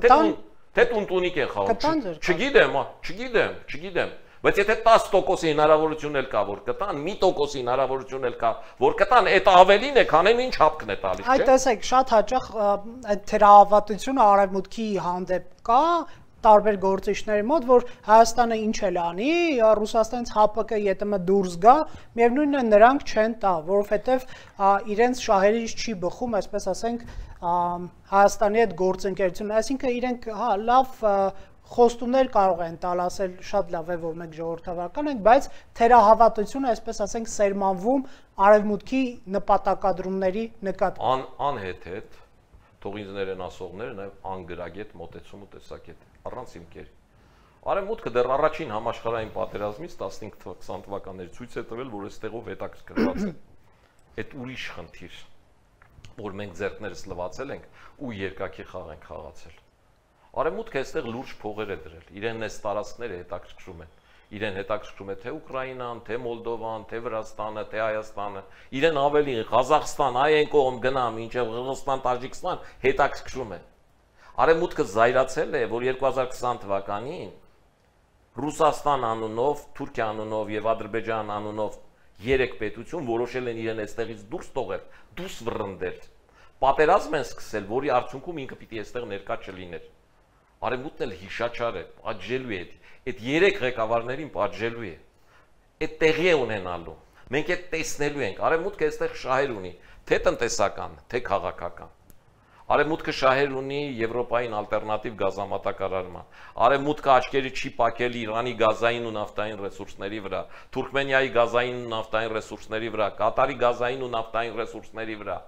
Կտան Թե տունտունիկ են խաղում։ Չգիտեմ, բայց եթե 10% հնարավորություն էլ կա, որ կտան, 1% հնարավորություն էլ կա, որ կտան, այդ ավելին է, քան ինչ հապկն է տալիս, չէ՞։ Այդ տեսեք, շատ հաճախ այդ թերահավատությունը արևմուտքի հանդեպ կա, տարբեր գործիչների մոտ, որ Հայաստանը ինչ էլ անի, Ռուսաստանից ՀԱՊԿ ԵՏՄ դուրս գա, միևնույնն է նրանք չեն տա, որովհետև իրենց շահերից չի բխում, այսպես ասենք, Հայաստանի այդ գործընկերությունը, այսինքն իրենք լավ խոստումներ կարող են տալ, ասել շատ լավ է, որ մենք ժողովրդավարական ենք, բայց թերահավատությունը, այսպես ասենք, սերմանվում արևմուտքի նպատակադրումների նկատմամբ։ Անհետ թող ինձներ են ասողները նաև անգրագետ մոտեցում ու տեսակետ առանց հիմքերի։ Արևմուտքը դեռ առաջին համաշխարհային պատերազմից 15-20 թվականների ցույց է տվել, որ այստեղով հետաքրքրված է։ Այդ ուրիշ խնդիր, որ մենք ձեռքներս լվացել ենք ու երկակի խաղ ենք խաղացել։ Արևմուտքը այստեղ լուրջ փողեր է դրել, իրեն այս տարածքները հետաքրքրում են։ Իրեն հետաքրքրում է թե Ուկրաինան, թե Մոլդովան, թե Վրաստանը, թե Հայաստանը, իրեն ավելի Ղազախստան, այն կողմ գնամ, ինչև Ղրղստան, Տաջիկստան հետաքրքրում է։ Արևմուտքը զայրացել է, որ 2020 թվականին Ռուսաստան անունով, Թուրքիա անունով եւ Ադրբեջան անունով 3 պետություն որոշել են իրեն այստեղից դուրս տողել, դուրս վռնդել։ Պատերազմ են սկսել, որի արդյունքում ինքը պիտի այստեղ ներկա չլիներ։ Արևմուտքն էլ հիշաչար է, պատժելու է, այդ 3 ղեկավարներին պատժելու է։ Այդ տեղի է ունենալու։ Մենք այդ տեսնելու ենք։ Արևմուտքը այստեղ շահեր ունի, թե տնտեսական, թե քաղաքական։ Արևմուտքը շահեր ունի Եվրոպային ալտերնատիվ գազամատակարարման։ Արևմուտքը աչքերի չի պակել Իրանի գազային ու նավթային ռեսուրսների վրա, Թուրքմենիայի գազային ու նավթային ռեսուրսների վրա, Կատարի գազային ու նավթային ռեսուրսների վրա։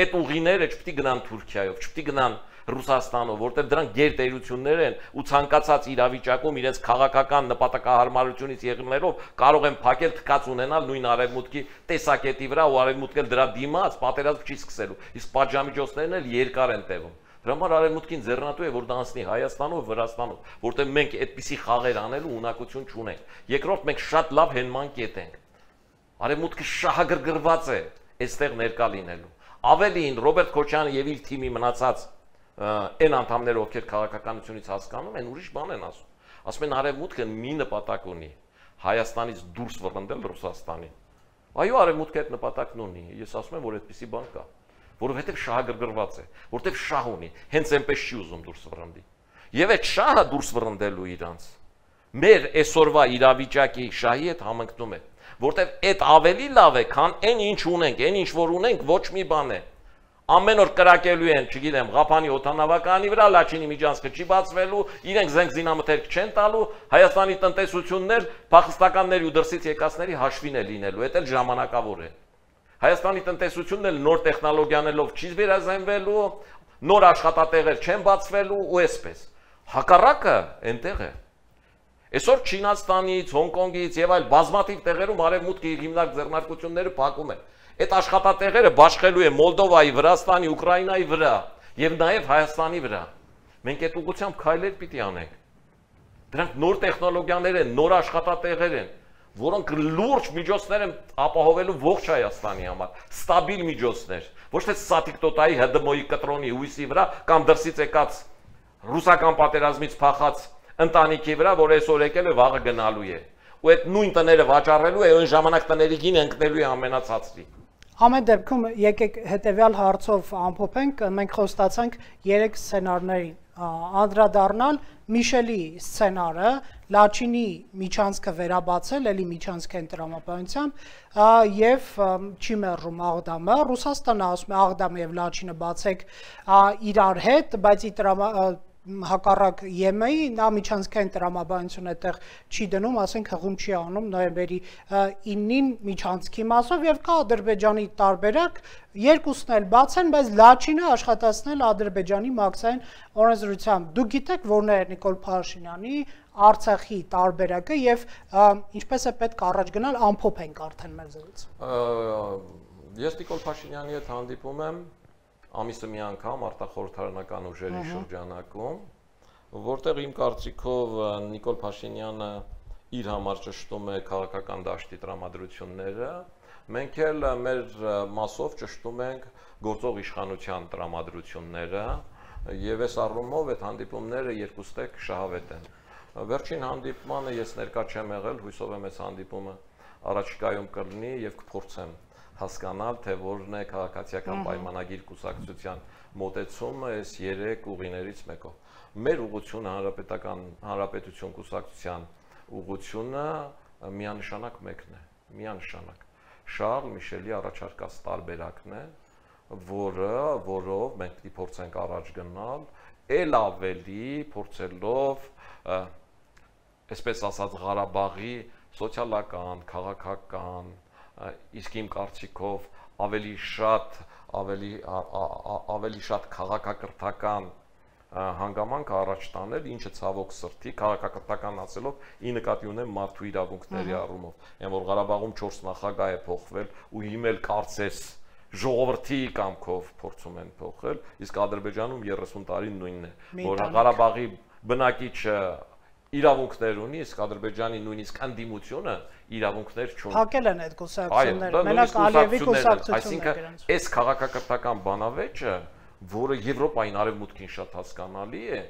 Այդ ուղիները չպետք է գնան Թուրքիայով, չպետք է գնան Ռուսաստանով, որտեղ դրանք գերտերություններ են ու ցանկացած իրավիճակում իրենց քաղաքական նպատակահարմարությունից եղնելով կարող են փակել թքած ունենալ նույն արևմուտքի տեսակետի վրա ու արևմուտքն էլ դրա դիմաց պատերազմ չի սկսելու, իսկ պատժամիջոցներն էլ երկար են տևում։ Դրա համար արևմուտքին ձեռնատու է որ դա անցնի Հայաստանով, Վրաստանով, որտեղ մենք այդպիսի խաղեր անելու ունակություն չունենք։ Երկրորդ մենք շատ լավ հենման կետ ենք։ Արևմուտքը շահագրգռված է այստեղ ներկա լինելու։ Ավելին Ռոբերտ Քոչյանը եւ իր թիմի մնացած այն անդամները, ովքեր քաղաքականությունից հասկանում են, ուրիշ բան են ասում։ Ասում են արևմուտքը մի նպատակ ունի՝ Հայաստանից դուրս վռնդել Ռուսաստանին։ Այո, արևմուտքը այդ նպատակն ունի։ Ես ասում եմ, որ այդպիսի բան կա, որովհետև շահագրգռված է, որովհետև շահ ունի, հենց այնպես չի ուզում դուրս վռնդի։ Եվ այդ շահը դուրս վռնդելու իրանց մեր այսօրվա իրավիճակի շահի հետ համընկնում է, որովհետև այդ ավելի լավ է, քան այն ինչ ունենք, այն ինչ որ ունենք, ոչ մի բան է։ Ամեն օր կրակելու են, չգիտեմ, Ղափանի օդանավականի վրա, Լաչինի միջանցքը չի բացվելու, իրենք զենք զինամթերք չեն տալու, Հայաստանի տնտեսություններ փախստականների ու դրսից եկածների հաշվին է լինելու, դա էլ ժամանակավոր է։ Հայաստանի տնտեսությունն էլ նոր տեխնոլոգիաներով չի վերազանվելու, նոր աշխատատեղեր չեն բացվելու ու այսպես։ Հակառակը այնտեղ է։ Այսօր Չինաստանից, Հոնկոնգից եւ այլ բազմաթիվ տեղերում արևմուտքի հիմնարկ ձեռնարկությունները փակում են։ Այդ աշխատատեղերը բաշխելու է Մոլդովայի, Վրաստանի, Ուկրաինայի վրա եւ նաեւ Հայաստանի վրա։ Մենք այդ ուղղությամբ քայլեր պիտի անենք։ Դրանք նոր տեխնոլոգիաներ են, նոր աշխատատեղեր են, որոնք լուրջ միջոցներ են ապահովելու ողջ Հայաստանի համար, ստաբիլ միջոցներ, ոչ թե Սատիկտոտայի ՀԴՄ-ի կտրոնի հույսի վրա կամ դրսից եկած ռուսական պատերազմից փախած ընտանիքի վրա, որ այսօր եկել է, վաղը գնալու է։ Ու այդ նույն տները վաճառելու է, այն ժամանակ տների գինը ընկնելու է ամենացածի։ Ամեն դեպքում եկեք հետևյալ հարցով ամփոփենք, մենք խոստացանք 3 սցենարների անդրադառնալ Միշելի սցենարը, Լաչինի միջանցքը վերաբացել, էլի միջանցքային տրամաբանությամբ եւ չի մերժում Աղդամը, Ռուսաստանը ասում է Աղդամը եւ Լաչինը բացեք իրար հետ, բայց հակառակ ԵՄ-ի նա միջանցքային տրամաբանություն այդտեղ չի դնում, ասենք հղում չի անում նոյեմբերի 9-ին միջանցքի մասով եւ կա Ադրբեջանի տարբերակ, երկուսն էլ բաց են, բայց Լաչինը աշխատացնել Ադրբեջանի մաքսային օրենսդրությամբ։ Դուք գիտեք որն է Նիկոլ Փաշինյանի Արցախի տարբերակը եւ ինչպես է պետք առաջ գնալ, ամփոփենք արդեն մեր զրույցը։ Ես Նիկոլ Փաշինյանի հետ հանդիպում եմ ամիսը մի անգամ արտախորհրդարանական ուժերի շրջանակում, որտեղ իմ կարծիքով Նիկոլ Փաշինյանը իր համար ճշտում է քաղաքական դաշտի տրամադրությունները, մենք էլ մեր մասով ճշտում ենք գործող իշխանության տրամադրությունները եւ այս առումով այդ հանդիպումները երկուստեք շահավետ են։ Վերջին հանդիպմանը ես ներկա չեմ եղել, հույսով եմ այս հանդիպումը առաջիկայում կլինի եւ կփորձեմ հասկանալ, թե որն է քաղաքացիական պայմանագիր կուսակցության մոտեցումը այս 3 ուղիներից մեկով։ Մեր ուղղությունը հանրապետություն կուսակցության ուղղությունը միանշանակ մեկն է, միանշանակ։ Շարլ Միշելի առաջարկած տարբերակն է, որով մենք պիտի փորձենք առաջ գնալ, ել ավելի փորձելով, այսպես ասած, Ղարաբաղի սոցիալական, քաղաքական, իսկ իմ կարծիքով ավելի շատ քաղաքակրթական հանգամանք առաջ տանել, ինչը ցավոք սրտի քաղաքակրթական ասելով ի նկատի ունեմ մարդու իրավունքների առումով։ Այն որ Ղարաբաղում 4 նախագահ է փոխվել ու հիմել կարծես ժողովրդի կամքով փորձում են փոխել, իսկ Ադրբեջանում 30 տարի նույնն է, որ Ղարաբաղի բնակիչը իրավունքներ ունի, իսկ Ադրբեջանի նույնիսկ ընդդիմությունը իրավունքներ չունի։ Փակել են այդ կուսակցությունները, մենակ Ալիևի կուսակցությունն է գրանց։ Այս քաղաքակրթական բանավեճը, որը Եվրոպային արևմուտքին շատ հասկանալի է,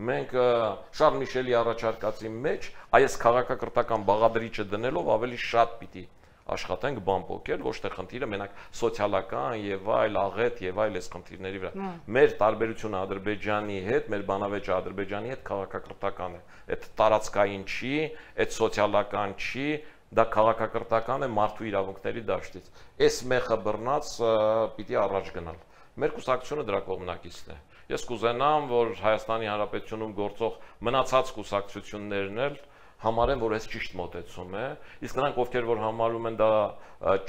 մենք Շարլ Միշելի առաջարկածի մեջ այս քաղաքակրթական բաղադրիչը դնելով ավելի շատ պիտի աշխատենք բան փոկել, ոչ թե խնդիրը մենակ սոցիալական եւ այլ աղետ եւ այլ այս խնդիրների վրա։ Մեր տարբերությունը Ադրբեջանի հետ, մեր բանավեճը Ադրբեջանի հետ քաղաքակրթական է։ Այդ տարածքային չի, այդ սոցիալական չի, դա քաղաքակրթական է մարդու իրավունքների դաշտից։ Այս մեխը բռնած պիտի առաջ գնալ։ Մեր կուսակցությունը դրա կողմնակիցն է։ Ես կուզենամ, որ Հայաստանի Հանրապետությունում գործող մնացած կուսակցություններն էլ համարեն, որ այս ճիշտ մոտեցում է, իսկ նրանք, ովքեր որ համարում են դա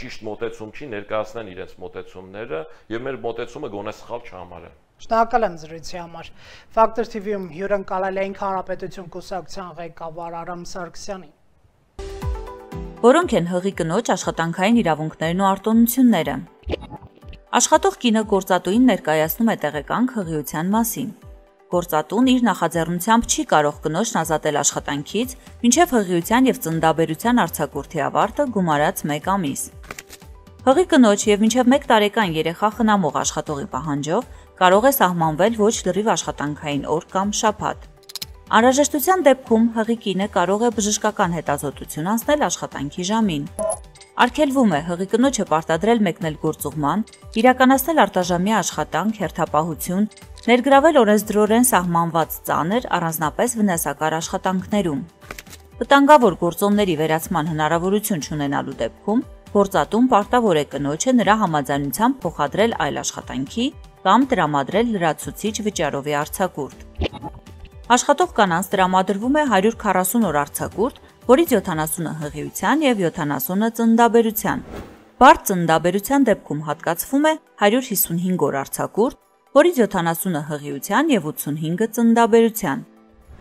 ճիշտ մոտեցում չի, ներկայացնեն իրենց մոտեցումները եւ մեր մոտեցումը գոնե սխալ չհամարեն։ Շնորհակալ եմ զրույցի համար։ Factor TV-ում հյուրընկալել էինք Հանրապետություն կուսակցության ղեկավար Արամ Սարգսյանին։ Որոնք են հղի կնոջ աշխատանքային իրավունքներն ու արտոնությունները։ Աշխատող կինը գործատուին ներկայացնում է տեղեկանք հղիության մասին։ Գործատուն իր նախաձեռնությամբ չի կարող կնոջն ազատել աշխատանքից, մինչև հղիության եւ ծննդաբերության արձակուրդի ավարտը գումարած 1 ամիս։ Հղի կնոջ եւ մինչև 1 տարեկան երեխա խնամող աշխատողի պահանջով կարող է սահմանվել ոչ լրիվ աշխատանքային օր կամ շաբաթ։ Անհրաժեշտության դեպքում հղի կինը կարող է բժշկական հետազոտություն անցնել աշխատանքի ժամին։ Արգելվում է հղի կնոջը պարտադրել մեկնել գործուղման, իրականացնել արտաժամյա աշխատանք, հերթապահություն, ներգրավել օրենսդրորեն սահմանված ծանր, առանձնապես վնասակար աշխատանքներում։ Վտանգավոր գործոնների վերացման հնարավորություն չունենալու դեպքում Գործատուն պարտավոր է կնոջը նրա համաձայնությամբ փոխադրել այլ աշխատանքի կամ տրամադրել լրացուցիչ վճարովի արձակուրդ։ Աշխատող կանանց տրամադրվում է 140 օր արձակուրդ, որից 70-ը հղիության եւ 70-ը ծննդաբերության։ Բարդ ծննդաբերության դեպքում հատկացվում է 155 օր արձակուրդ, որից 70-ը հղիության եւ 85-ը ծննդաբերության։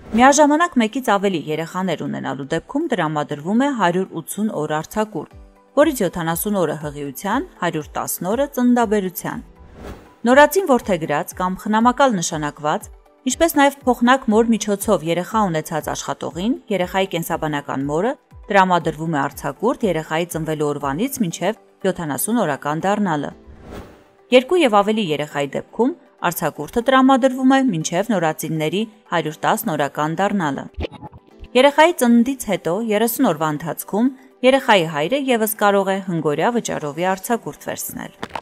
Միաժամանակ մեկից ավելի երեխաներ ունենալու դեպքում տրամադրվում է 180 օր արձակուրդ, որից 70 օրը հղիության, 110 օրը ծննդաբերության։ Նորածին որդեգրած կամ խնամակալ նշանակված, ինչպես նաև փոխնակ մոր միջոցով երեխա ունեցած աշխատողին, երեխայի կենսաբանական մորը տրամադրվում է արձակուրդ երեխայի ծնվելու օրվանից մինչև 70 օրական դառնալը։ 2 եւ ավելի երեխայի դեպքում արձակուրդը տրամադրվում է մինչև նորածինների 110 օրական դառնալը։ Երեխայի ծննդից հետո 30 օրվա ընթացքում երեխայի հայրը եւս կարող է հնգօրյա վճարովի արձակուրդ վերցնել։